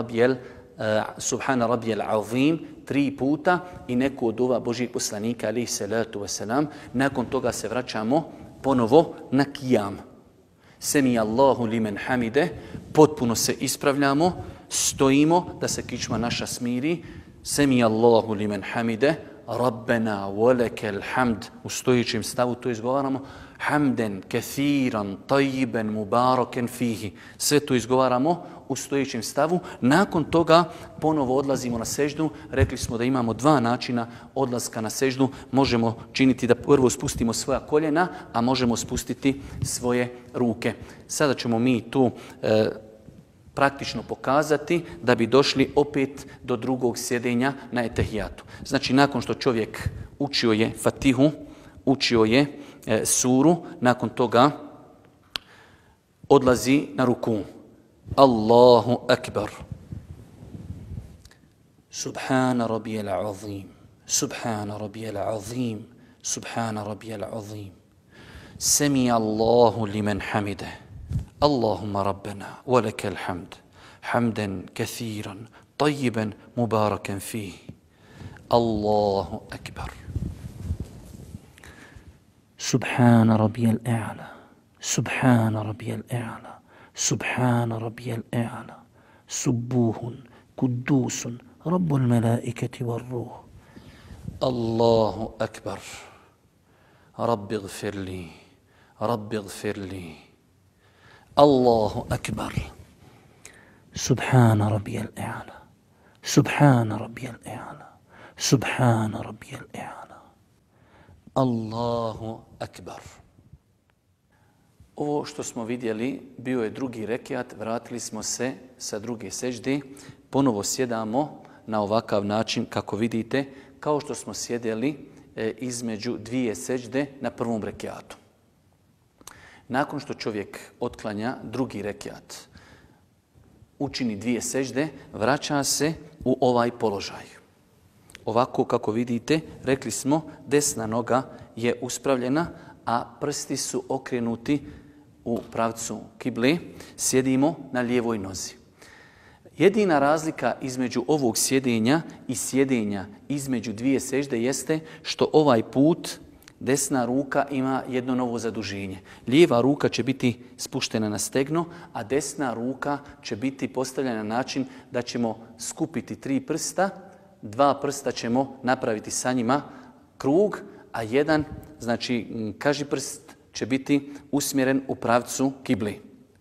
rabijel azim 3 puta i neku od ova Božijeg poslanika, alaihi salatu wasalam. Nakon toga se vraćamo ponovo na kijam. Semi Allahu limen hamide, potpuno se ispravljamo, stojimo da se kičma naša smiri. Semi Allahu limen hamide, Rabbena walekel hamd, u stojićem stavu to izgovaramo. Hamden, kathiran, tajiben, mubaraken fihi. Sve to izgovaramo u stojićem stavu. Nakon toga ponovo odlazimo na seždu. Rekli smo da imamo 2 načina odlaska na seždu. Možemo činiti da prvo spustimo svoja koljena, a možemo spustiti svoje ruke. Sada ćemo mi tu praktično pokazati da bi došli opet do drugog sjedenja na etehijatu. Znači, nakon što čovjek učio je Fatihu, učio je suru, nakon toga odlazi na ruku. Allahu akbar. Subhana rabijel azim. Subhana rabijel azim. Subhana rabijel azim. Semi Allahu limen hamide. Allahumma rabbena, walakal hamd, hamdan kathiran, tayyiban, mubarakan fihi. Allahu akbar. Subhana rabbiyal a'la, subhana rabbiyal a'la, subhana rabbiyal a'la, subuhun, kuddusun, rabbul malaikati war ruh. Allahu akbar. Rabbi gfirli, Rabbi gfirli. Allahu akbar. Subhana rabbiyal a'la. Subhana rabbiyal a'la. Subhana rabbiyal a'la. Allahu akbar. Ovo što smo vidjeli bio je drugi rekiat, vratili smo se sa druge sežde, ponovo sjedamo na ovakav način kako vidite, kao što smo sjedeli između 2 sežde na prvom rekiatu. Nakon što čovjek otklanja drugi rekiat, učini 2 sežde, vraća se u ovaj položaj. Ovako kako vidite, rekli smo, desna noga je uspravljena, a prsti su okrenuti u pravcu kible. Sjedimo na lijevoj nozi. Jedina razlika između ovog sjedenja i sjedenja između 2 sežde jeste što ovaj put desna ruka ima jedno novo zaduženje. Lijeva ruka će biti spuštena na stegno, a desna ruka će biti postavljena na način da ćemo skupiti 3 prsta, 2 prsta ćemo napraviti sa njima krug, a jedan, znači kažiprst, će biti usmjeren u pravcu kibli.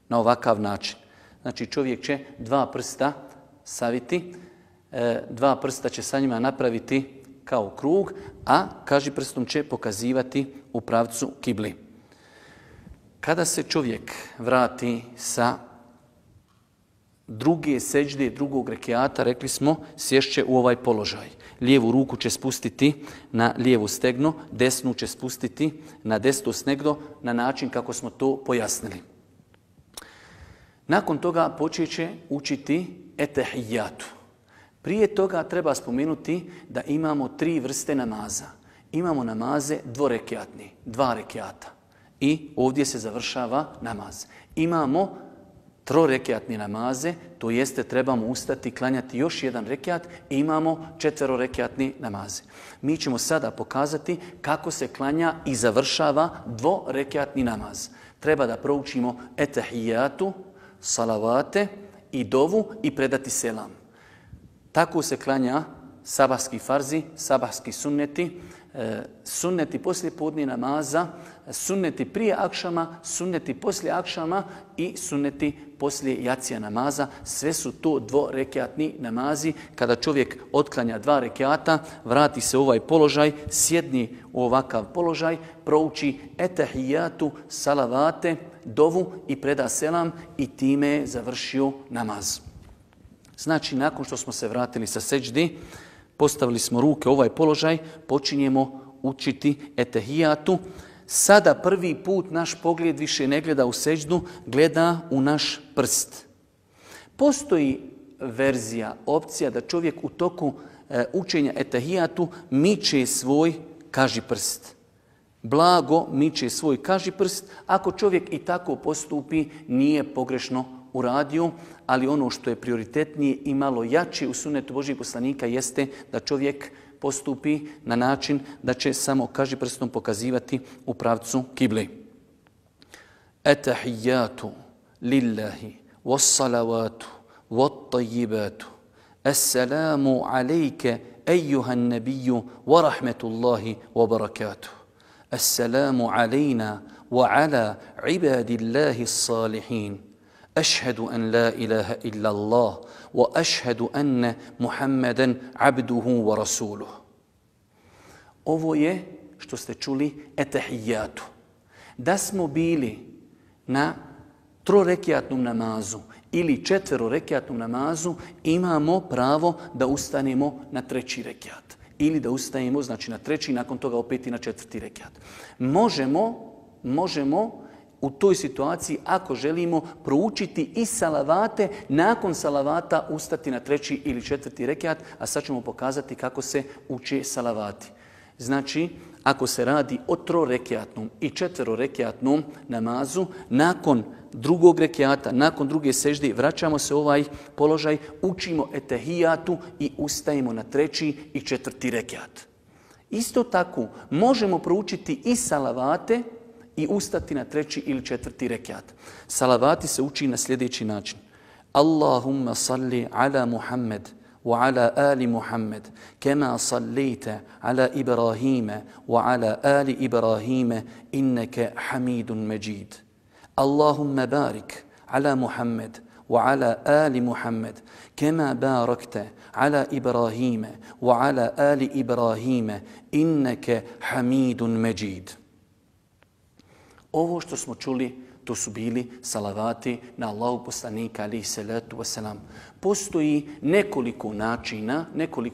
Na ovakav način. Znači čovjek će 2 prsta saviti, 2 prsta će sa njima napraviti kao krug, a kažiprstom će pokazivati u pravcu kibli. Kada se čovjek vrati sa druge seđde, drugog rekiata, rekli smo, sješće u ovaj položaj. Lijevu ruku će spustiti na lijevu stegno, desnu će spustiti na desno stegno na način kako smo to pojasnili. Nakon toga počet će učiti etehijatu. Prije toga treba spomenuti da imamo 3 vrste namaza. Imamo namaze dvorekiatni, 2 rekiata. I ovdje se završava namaz. Imamo 3-rekiatni namaze, to jeste trebamo ustati, klanjati još 1 rekiat i imamo 4-rekiatni namaze. Mi ćemo sada pokazati kako se klanja i završava 2-rekiatni namaz. Treba da proučimo etehijatu, salavate i dovu i predati selam. Tako se klanja sabahski farzi, sabahski sunneti, sunneti poslije podne namaza, sunneti prije akšama, sunneti poslije akšama i sunneti poslije jacija namaza. Sve su to dvorekjatni namazi. Kada čovjek otklanja 2 rekjata, vrati se u ovaj položaj, sjedni u ovakav položaj, prouči etahijatu, salavate, dovu i preda selam i time je završio namaz. Znači, nakon što smo se vratili sa seđdi, postavili smo ruke u ovaj položaj, počinjemo učiti etahijatu. Sada prvi put naš pogled više ne gleda u seđdu, gleda u naš prst. Postoji verzija, opcija da čovjek u toku učenja etahijatu miče svoj kažiprst. Blago miče svoj kažiprst. Ako čovjek i tako postupi, nije pogrešno uradio, ali ono što je prioritetnije i malo jače u sunnetu Božjih poslanika jeste da čovjek postupi na način da će samo kažiprstom pokazivati u pravcu kibli. Etahijatu lillahi wassalavatu wattajibatu assalamu alejke ejuhan nebiju wa rahmetullahi wa barakatuh. Assalamu alejna wa ala ibadillahi salihin. أشهد أن لا إله إلا الله وأشهد أن محمدا عبده ورسوله. Ovo je, što ste čuli, etahijatu. Da smo bili na 3-rekjatnom namazu ili 4-rekjatnom namazu, imamo pravo da ustanemo na 3. rekjat. Ili da ustajemo, znači na 3. nakon toga opet i na 4. rekjat. Možemo u toj situaciji, ako želimo proučiti i salavate, nakon salavata ustati na 3. ili 4. rekjat, a sad ćemo pokazati kako se uče salavati. Znači, ako se radi o 3-rekjatnom i 4-rekjatnom namazu, nakon 2. rekjata, nakon 2. sežde, vraćamo se u ovaj položaj, učimo etahijatu i ustajemo na 3. i 4. rekjat. Isto tako, možemo proučiti i salavate i ustati na 3. ili 4. rekjat. Salavati se uči na sljedeći način. Allahumma salli ala Muhammed wa ala ali Muhammed kema sallita ala Ibrahima wa ala ali Ibrahima innaka Hamidun Majid. Allahumma barik ala Muhammed wa ala ali Muhammed kema barakta ala Ibrahima wa ala ali Ibrahima innaka Hamidun Majid. Ovo što smo čuli, to su bili salavati na Allahu poslanika alejhi salatu vesselam. Postoji nekoliko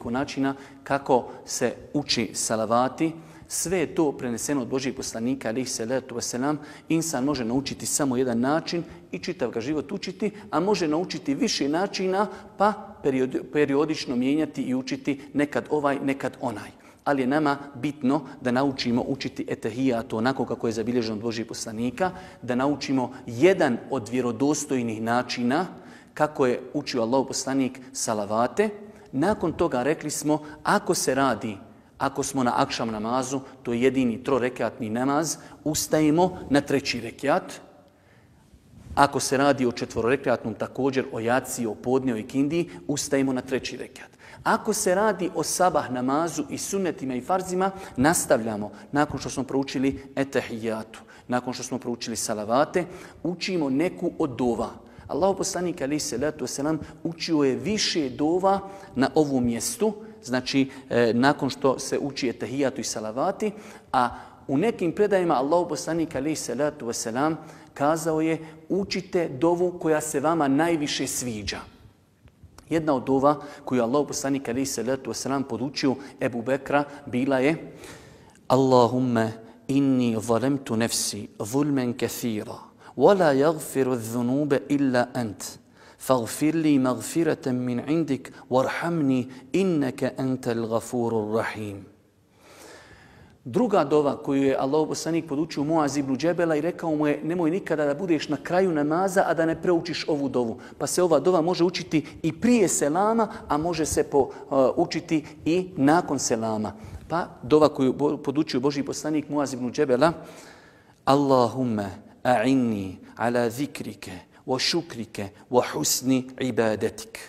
načina kako se uči salavati. Sve je to preneseno od Božjeg poslanika alejhi salatu vesselam. Insan može naučiti samo jedan način i čitav ga život učiti, a može naučiti više načina pa periodično mijenjati i učiti nekad ovaj, nekad onaj. Ali je nama bitno da naučimo učiti etahijatu onako kako je zabilježeno od Božjih poslanika, da naučimo jedan od vjerodostojnih načina kako je učio Allahov poslanik salavate. Nakon toga rekli smo, ako smo na akšam namazu, to je jedini 3-rekjatni namaz, ustajemo na 3. rekjat. Ako se radi o 4-rekjatnom, također o jaciji, o podne, o ikindiji, ustajemo na 3. rekjat. Ako se radi o sabah namazu i sunnetima i farzima, nastavljamo. Nakon što smo proučili etahijatu, nakon što smo proučili salavate, učimo neku od dova. Allahov poslanik alejhi salatu vesselam učio je više dova na ovom mjestu, znači nakon što se uči etahijatu i salavati, a u nekim predajima Allahov poslanik alejhi salatu vesselam kazao je učite dovu koja se vama najviše sviđa. Jedna od dova koju je Allahov poslanik alejhi salatu vesselam podučio Ebu Bekra bila je Allahumma inni zalamtu nafsi zulman kathira wa la yaghfiru adh-dhunuba illa ant faghfir li maghfiratan min indik warhamni innaka antal ghafurur rahim. Druga dova koju je Allahov poslanik podučio Muaz ibn Džebela i rekao mu je nemoj nikada da budeš na kraju namaza, a da ne proučiš ovu dovu. Pa se ova dova može učiti i prije selama, a može se učiti i nakon selama. Pa dova koju podučio Božji poslanik Muaz ibn Džebela, Allahumma a'inni ala zikrike wa šukrike wa husni ibadatik.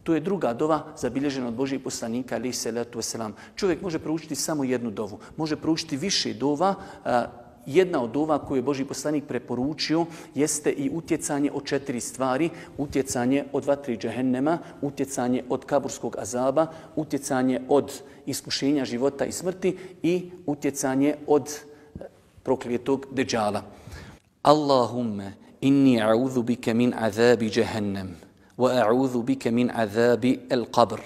To je druga dova zabilježena od Božijeg poslanika, alejhi selatu vesselam. Čovjek može proučiti samo jednu dovu, može proučiti više dova. Jedna od dova koju je Božji poslanik preporučio jeste i utjecanje od 4 stvari. Utjecanje od vatri džehennema, utjecanje od kaburskog azaba, utjecanje od iskušenja života i smrti i utjecanje od prokletog deđala. Allahumme inni a'udhu bike min azabi džehennem wa a'udhu bike min azabi al-qabr.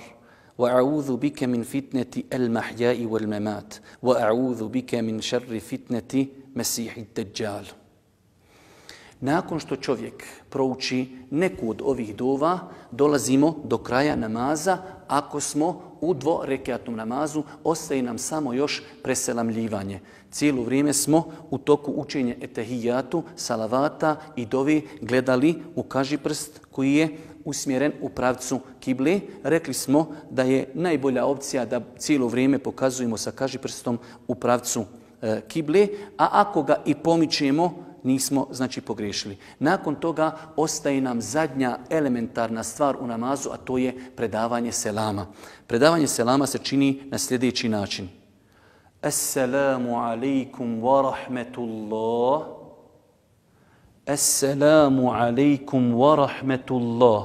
وأعوذ بك من فتنة المحياء والممات وأعوذ بك من شر فتنة مسيح الدجال. Nakon što čovjek prouči neku od ovih dova, dolazimo do kraja namaza. Ako smo u dvorekatnom namazu, ostaje nam samo još preselamljivanje. Cijelo vrijeme smo u toku učenja etehijatu, salavata i dovi gledali u kažiprst koji je usmjeren u pravcu kible. Rekli smo da je najbolja opcija da cijelo vrijeme pokazujemo sa kažiprstom u pravcu kible, a ako ga i pomičemo, nismo znači pogriješili. Nakon toga ostaje nam zadnja elementarna stvar u namazu, a to je predavanje selama. Predavanje selama se čini na sljedeći način. Assalamu alaikum wa rahmetullah. Assalamu alaikum wa rahmetullah.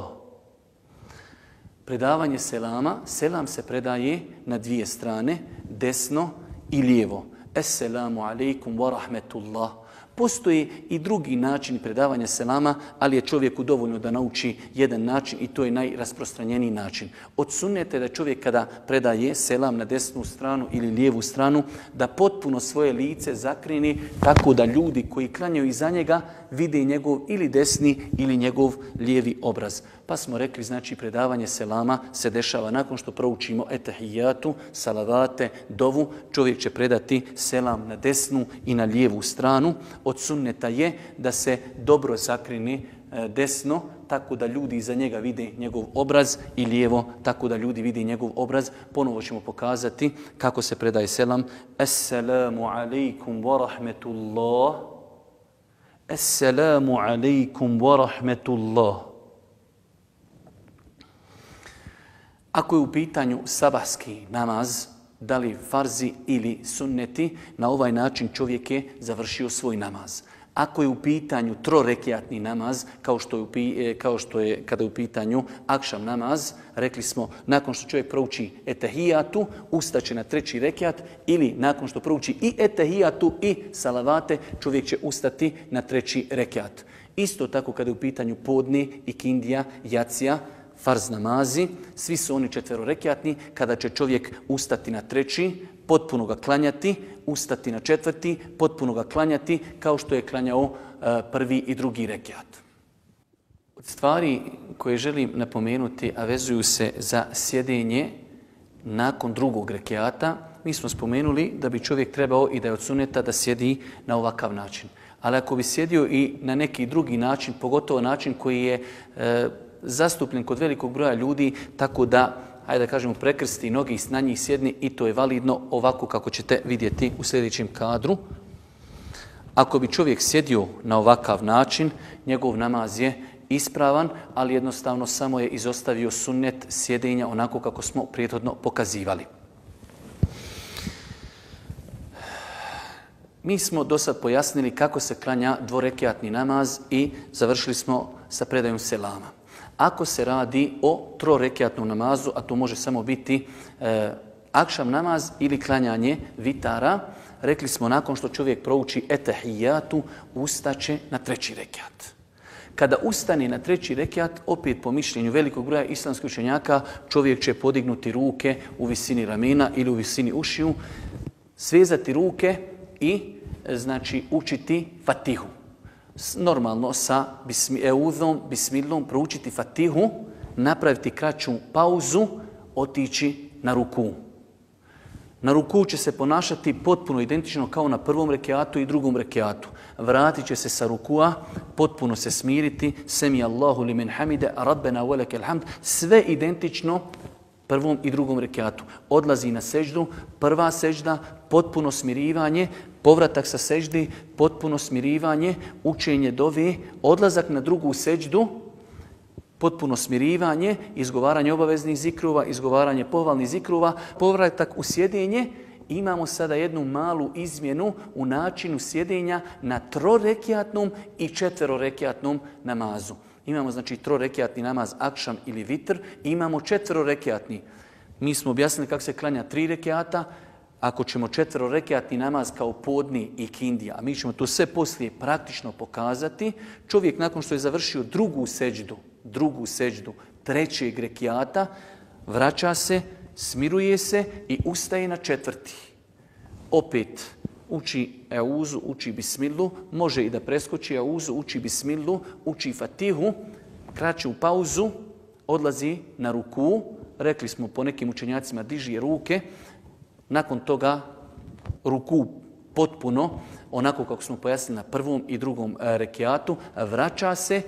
Predavanje selama, selam se predaje na dvije strane, desno i lijevo. Assalamu alaikum wa rahmetullah. Postoji i drugi način predavanja selama, ali je čovjeku dovoljno da nauči jedan način i to je najrasprostranjeniji način. Od sunneta je da čovjek kada predaje selam na desnu stranu ili lijevu stranu, da potpuno svoje lice zakreni tako da ljudi koji klanjaju iza njega vide njegov ili desni ili njegov lijevi obraz. Pa smo rekli, znači, predavanje selama se dešava nakon što proučimo etehijatu, salavate, dovu. Čovjek će predati selam na desnu i na lijevu stranu. Od sunneta je da se dobro zakrene desno, tako da ljudi iza njega vide njegov obraz, i lijevo, tako da ljudi vide njegov obraz. Ponovo ćemo pokazati kako se predaje selam. Assalamu alaikum wa rahmetullah. Assalamu alaikum wa rahmetullah. Ako je u pitanju sabahski namaz, da li farzi ili sunneti, na ovaj način čovjek je završio svoj namaz. Ako je u pitanju trorekjatni namaz, kao što je kada je u pitanju akšam namaz, rekli smo, nakon što čovjek prouči etehijatu, ustaće na treći rekjat, ili nakon što prouči i etehijatu i salavate, čovjek će ustati na treći rekjat. Isto tako kada je u pitanju podni, ikindija, jacija, farz namazi, svi su oni četverorekjatni, kada će čovjek ustati na treći, potpuno ga klanjati, ustati na četvrti, potpuno ga klanjati, kao što je klanjao prvi i drugi rekjat. Od stvari koje želim napomenuti, a vezuju se za sjedenje nakon drugog rekjata, mi smo spomenuli da bi čovjek trebao i da je od suneta da sjedi na ovakav način. Ali ako bi sjedio i na neki drugi način, pogotovo način koji je zastupljen kod velikog broja ljudi, tako da, hajde da kažemo, prekrsti noge i na njih sjedni, i to je validno ovako kako ćete vidjeti u sljedećem kadru. Ako bi čovjek sjedio na ovakav način, njegov namaz je ispravan, ali jednostavno samo je izostavio sunnet sjedenja onako kako smo prethodno pokazivali. Mi smo do sad pojasnili kako se klanja dvorekjatni namaz i završili smo sa predajom selama. Ako se radi o trorekjatnom namazu, a to može samo biti akšam namaz ili klanjanje vitara, rekli smo, nakon što čovjek prouči etehijatu, ustaće na treći rekjat. Kada ustane na treći rekjat, opet po mišljenju velikog broja islamskih učenjaka, čovjek će podignuti ruke u visini ramena ili u visini ušiju, svezati ruke i znači učiti fatihu. Normalno sa eudhom, bismillom, proučiti fatihu, napraviti kraću pauzu, otići na ruku. Na ruku će se ponašati potpuno identično kao na prvom rekiatu i drugom rekiatu. Vratit će se sa rukua, potpuno se smiriti, semi Allahu limen hamide, rabbena velekel hamd, sve identično prvom i drugom rekiatu. Odlazi na seždu, prva sežda, potpuno smirivanje, povratak sa seždi, potpuno smirivanje, učenje dove, odlazak na drugu seždu, potpuno smirivanje, izgovaranje obaveznih zikrova, izgovaranje pohvalnih zikrova, povratak u sjedenje. Imamo sada jednu malu izmjenu u načinu sjedenja na 3-rekiatnom i 4-rekiatnom namazu. Imamo znači 3-rekiatni namaz akšam ili vitr i imamo 4-rekiatni. Mi smo objasnili kako se klanja 3 rekiata. Ako ćemo 4-rekiatni namaz kao podni i kindija, a mi ćemo to sve poslije praktično pokazati, čovjek nakon što je završio drugu seđdu 3. rekiata, vraća se, smiruje se i ustaje na 4. Opet uči euzu, uči bismilu, može i da preskoči euzu, uči bismilu, uči fatihu, kraće u pauzu, odlazi na ruku, rekli smo po nekim učenjacima diži ruke, nakon toga ruku potpuno, onako kako smo pojasnili na 1. i 2. rekiatu, vraća se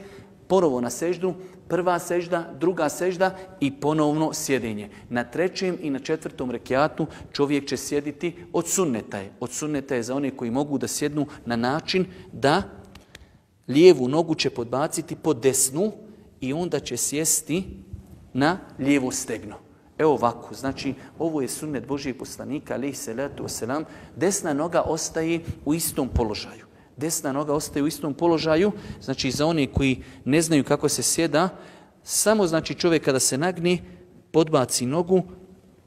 ponovo na seždu, 1. sežda, 2. sežda i ponovno sjedenje. Na 3. i na 4. rekiatu čovjek će sjediti od sunneta je. Od sunneta je za one koji mogu da sjednu na način da lijevu nogu će podbaciti pod desnu i onda će sjesti na lijevo stegno. Evo ovako, znači ovo je sunnet Božijeg poslanika, alejhi salatu vesselam, desna noga ostaje u istom položaju. Desna noga ostaje u istom položaju, znači za one koji ne znaju kako se sjeda, samo znači čovjek kada se nagne, podbaci nogu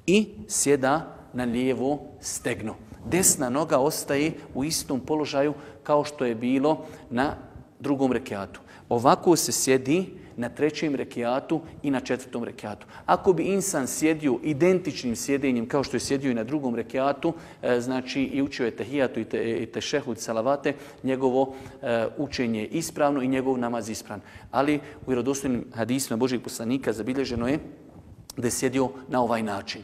i sjeda na lijevo stegno. Desna noga ostaje u istom položaju kao što je bilo na 2. rekiatu. Ovako se sjedi na 3. rekiatu i na 4. rekiatu. Ako bi insan sjedio identičnim sjedenjem kao što je sjedio i na 2. rekiatu, znači i učio je tehijatu i tešehud salavate, njegovo učenje je ispravno i njegov namaz ispravan. Ali u vjerodostojnim hadisima Božjeg poslanika zabilježeno je da je sjedio na ovaj način.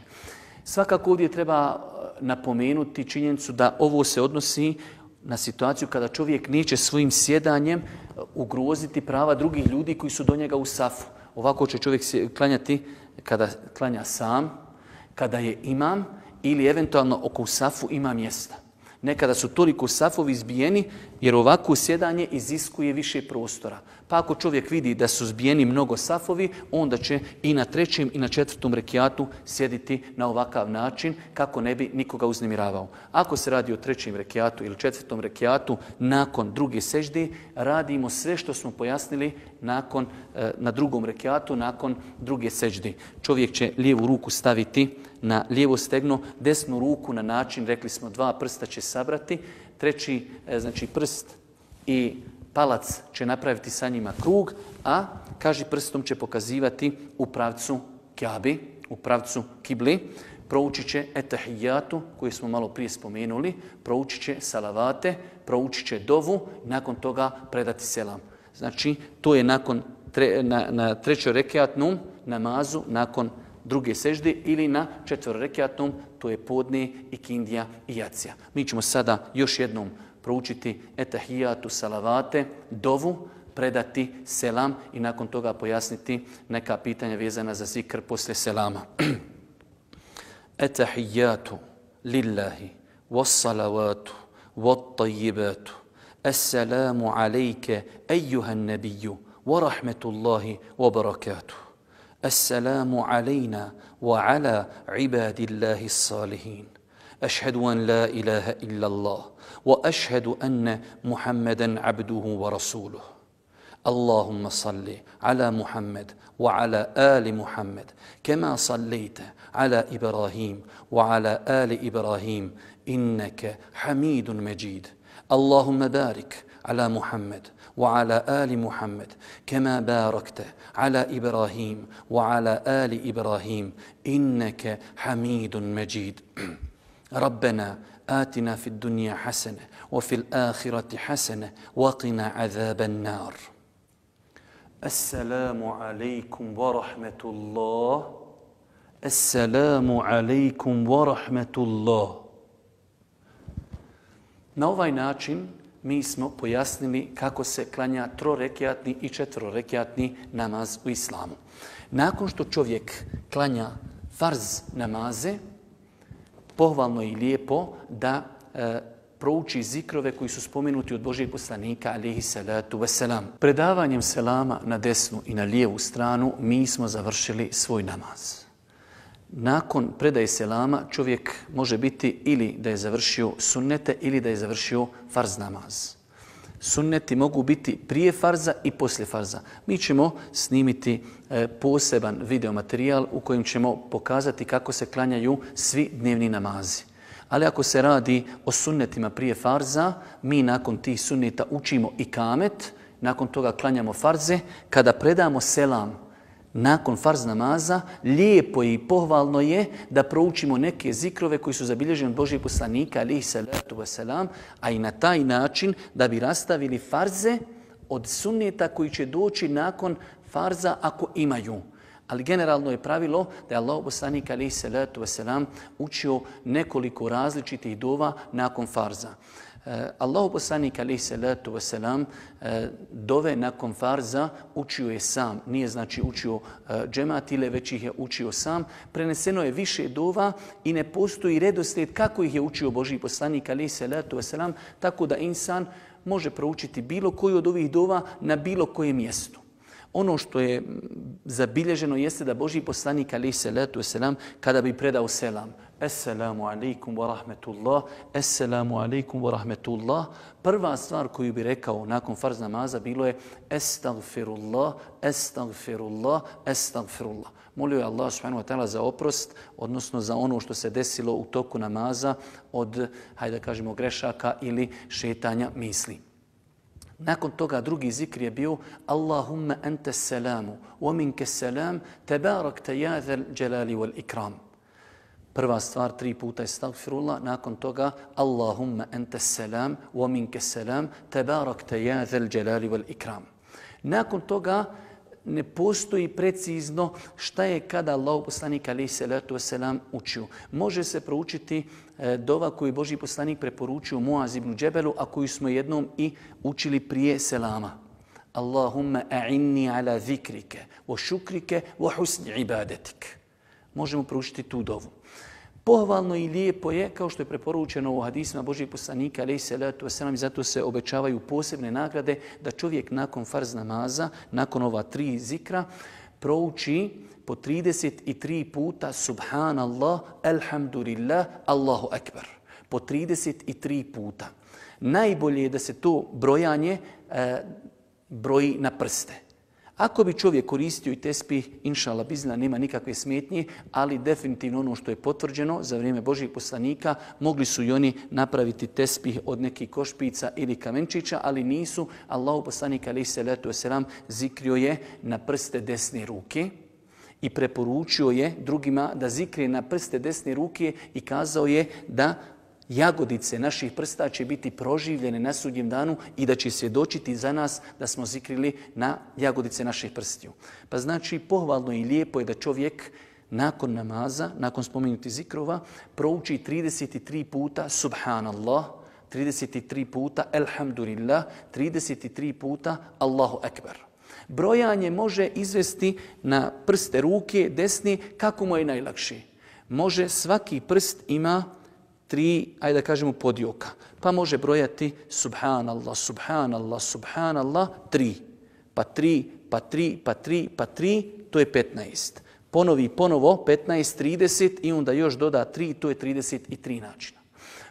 Svakako ovdje treba napomenuti činjenicu da ovo se odnosi na situaciju kada čovjek neće svojim sjedanjem ugroziti prava drugih ljudi koji su do njega u safu. Ovako će čovjek klanjati kada klanja sam, kada je imam ili eventualno oko safu ima mjesta. Nekada su toliko safovi zbijeni jer ovako sjedanje iziskuje više prostora. Pa ako čovjek vidi da su zbijeni mnogo safovi, onda će i na 3. i na 4. rekiatu sjediti na ovakav način kako ne bi nikoga uznemiravao. Ako se radi o 3. rekiatu ili 4. rekiatu nakon 2. sežde, radimo sve što smo pojasnili na 2. rekiatu nakon 2. sežde. Čovjek će lijevu ruku staviti na lijevo stegno, desnu ruku na način, rekli smo 2 prsta će sabrati, 3. znači prst i palac će napraviti sa njima krug, a kaži prstom će pokazivati u pravcu Kjabi, u pravcu kibli. Proučit će etahijatu, koju smo malo prije spomenuli, proučit će salavate, proučit će dovu, nakon toga predati selam. Znači, to je na 3. rekiatnom namazu, nakon 2. sežde ili na 4. rekiatnom, to je podne i kindija i jacija. Mi ćemo sada još jednom proučiti etahijatu, salavate, dovu, predati selam i nakon toga pojasniti neka pitanja vezana za zikr poslije selama. Etahijatu lillahi wassalavatu wattajibatu assalamu alejke ejuhan nebiju wa rahmetullahi wa barakatuh. Assalamu alejna wa ala ibadillahi salihin. أشهد أن لا إله إلا الله وأشهد أن محمدا عبده ورسوله اللهم صل على محمد وعلى آل محمد كما صليت على إبراهيم وعلى آل إبراهيم إنك حميد مجيد اللهم بارك على محمد وعلى آل محمد كما باركت على إبراهيم وعلى آل إبراهيم إنك حميد مجيد ربنا آتنا في الدنيا حسنة وفي الآخرة حسنة وقنا عذاب النار السلام عليكم ورحمة الله السلام عليكم ورحمة الله. Na ovaj način mi smo pojasnili kako se klanja 3-rekiatni i 4-rekiatni namaz u islamu. Nakon što čovjek klanja farz namaze, pohvalno i lijepo da prouči zikrove koji su spomenuti od Božijeg poslanika, alejhi salatu vesselam. Predavanjem selama na desnu i na lijevu stranu mi smo završili svoj namaz. Nakon predaje selama čovjek može biti ili da je završio sunnete ili da je završio farz namaz. Sunneti mogu biti prije farza i poslije farza. Mi ćemo snimiti poseban videomaterijal u kojem ćemo pokazati kako se klanjaju svi dnevni namazi. Ali ako se radi o sunnetima prije farza, mi nakon tih sunneta učimo ikamet, nakon toga klanjamo farze. Kada predamo selam nakon farz namaza, lijepo i pohvalno je da proučimo neke zikrove koji su zabilježeni od Božijeg poslanika, alejhi salatu vesselam, a i na taj način da bi rastavili farze od sunneta koji će doći nakon farza ako imaju. Ali generalno je pravilo da je Allahov poslanik alejhi salatu vesselam učio nekoliko različitih dova nakon farza. Allahov poslanik alejhi salatu vesselam dove nakon farza učio je sam, nije znači učio džemat ili već ih je učio sam. Preneseno je više dova i ne postoji redoslijed kako ih je učio Božji poslanik alejhi salatu vesselam, tako da insan može proučiti bilo koju od ovih dova na bilo kojem mjestu. Ono što je zabilježeno jeste da Božji poslanik alejhi salatu vesselam kada bi predao selam, Assalamu alaikum wa rahmetullah, Assalamu alaikum wa rahmetullah, prva stvar koju bi rekao nakon farz namaza bilo je Estagfirullah, Estagfirullah, Estagfirullah. Molio je Allah subhanahu wa ta'ala za oprost, odnosno za ono što se desilo u toku namaza od, hajde da kažemo, grešaka ili šetanja misli. Nakon toga drugi zikr je bio Allahumma anta salamu wa minka salam tabarakta ya zal jalali wal ikram. Prva stvar 3 puta estagfirullah, nakon toga Allahumma anta salam wa minka salam tabarakta ya zal jalali wal ikram. Nakon toga ne postoji precizno šta je kada Allahov poslanik alejhi salatu vesselam učio. Može se proučiti dova koju Božji poslanik preporučio Muaz ibn Džebelu, a koju smo jednom i učili prije selama. Allahumma a'inni ala zikrike wa šukrike wa husni ibadetik. Možemo proučiti tu dovu. Pohvalno i lijepo je, kao što je preporučeno u hadisima Božjeg poslanika alejhi salatu vesselam, i zato se obećavaju posebne nagrade, da čovjek nakon farz namaza, nakon ova 3 zikra, prouči po 33 puta Subhanallah, Alhamdulillah, Allahu Akbar. Po 33 puta. Najbolje je da se to brojanje broji na prste. Ako bi čovjek koristio i tespih, inšallah bizna, nema nikakve smetnje, ali definitivno ono što je potvrđeno za vrijeme Božjih poslanika, mogli su i oni napraviti tespih od nekih košpica ili kamenčića, ali nisu. Allahov poslanik alejhi salatu vesselam zikrio je na prste desne ruke i preporučio je drugima da zikre na prste desne ruke i kazao je da jagodice naših prsta će biti proživljene na sudnjem danu i da će svjedočiti za nas da smo zikrili na jagodice naših prstiju. Pa znači pohvalno i lijepo je da čovjek nakon namaza, nakon spomenuti zikrova, prouči 33 puta Subhanallah, 33 puta Alhamdulillah, 33 puta Allahu Akbar. Brojanje može izvesti na prste ruke desni kako mu je najlakše. Može, svaki prst ima 3, ajde da kažemo, podjoka. Pa može brojati Subhanallah, Subhanallah, Subhanallah, 3. Pa 3, pa 3, pa 3, pa 3, to je 15. Ponovi ponovo 15, 30 i onda još doda 3, to je 33 načina.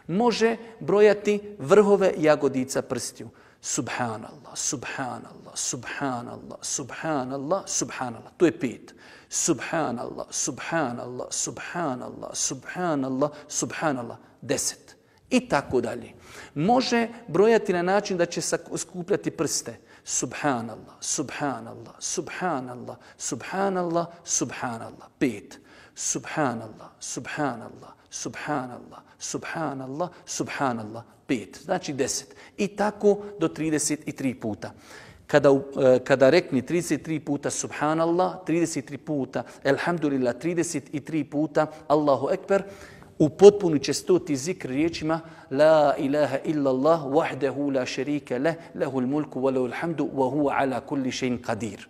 Može brojati vrhove jagodica prstiju. Subhanallah, Subhanallah, Subhanallah, Subhanallah, Subhanallah, to je 5. Subhanallah, Subhanallah, Subhanallah, Subhanallah, Subhanallah, 10. I tako dalje. Može brojati na način da će skupljati prste. Subhanallah, Subhanallah, Subhanallah, Subhanallah, Subhanallah, 5. Subhanallah, Subhanallah, Subhanallah, Subhanallah, Subhanallah, 5. Znači 10. I tako do 33 puta. Kada rekni 33 puta Subhanallah, 33 puta Alhamdulillah, 33 puta Allahu Ekber, upotpunit će 100. zikr riječima La ilaha illallah wahdahu la sharika lah, lahul mulku wa lahul hamdu wa huwa ala kulli shay'in qadir.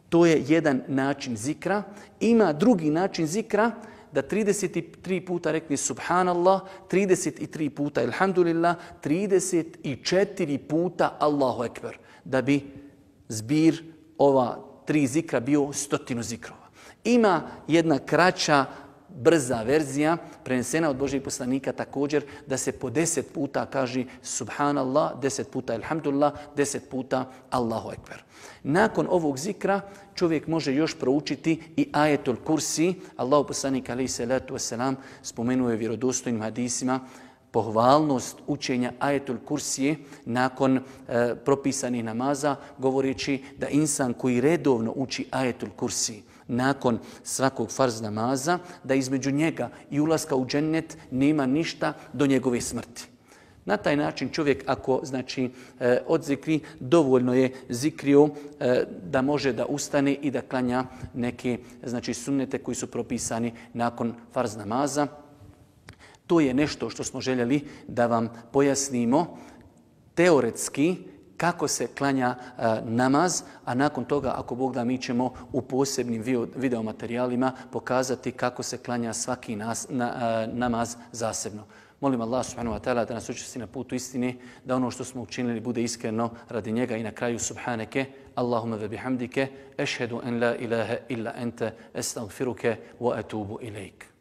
To je jedan način zikra. Ima drugi način zikra da 33 puta rekne subhanallah, 33 puta elhamdulillah, 34 puta Allahu ekber, da bi zbir ova 3 zikra bio 100 zikrova. Ima jedna kraća, brza verzija, prenesena od Božijeg poslanika također, da se po 10 puta kaže subhanallah, 10 puta elhamdulillah, 10 puta Allahu ekber. Nakon ovog zikra čovjek može još proučiti i ajetul kursi. Allahu poslanik alejhi salatu vesselam spomenuo je vjerodostojnim hadisima pohvalnost učenja ajetul kursije nakon propisanih namaza, govoreći da insan koji redovno uči ajetul kursi nakon svakog farz namaza, da između njega i ulaska u džennet nema ništa do njegove smrti. Na taj način čovjek ako odzikri, dovoljno je zikrio da može da ustane i da klanja neke sunnete koji su propisani nakon farz namaza. To je nešto što smo željeli da vam pojasnimo teoretski kako se klanja namaz, a nakon toga, ako Bog da, mi ćemo u posebnim videomaterijalima pokazati kako se klanja svaki namaz zasebno. Molim Allah subhanahu wa ta'ala da nas učesti na putu istine, da ono što smo učinili bude iskreno radi njega i na kraju subhaneke, Allahumma ve bihamdike, ešhedu en la ilaha illa ente, estagfiruke wa atubu ilaik.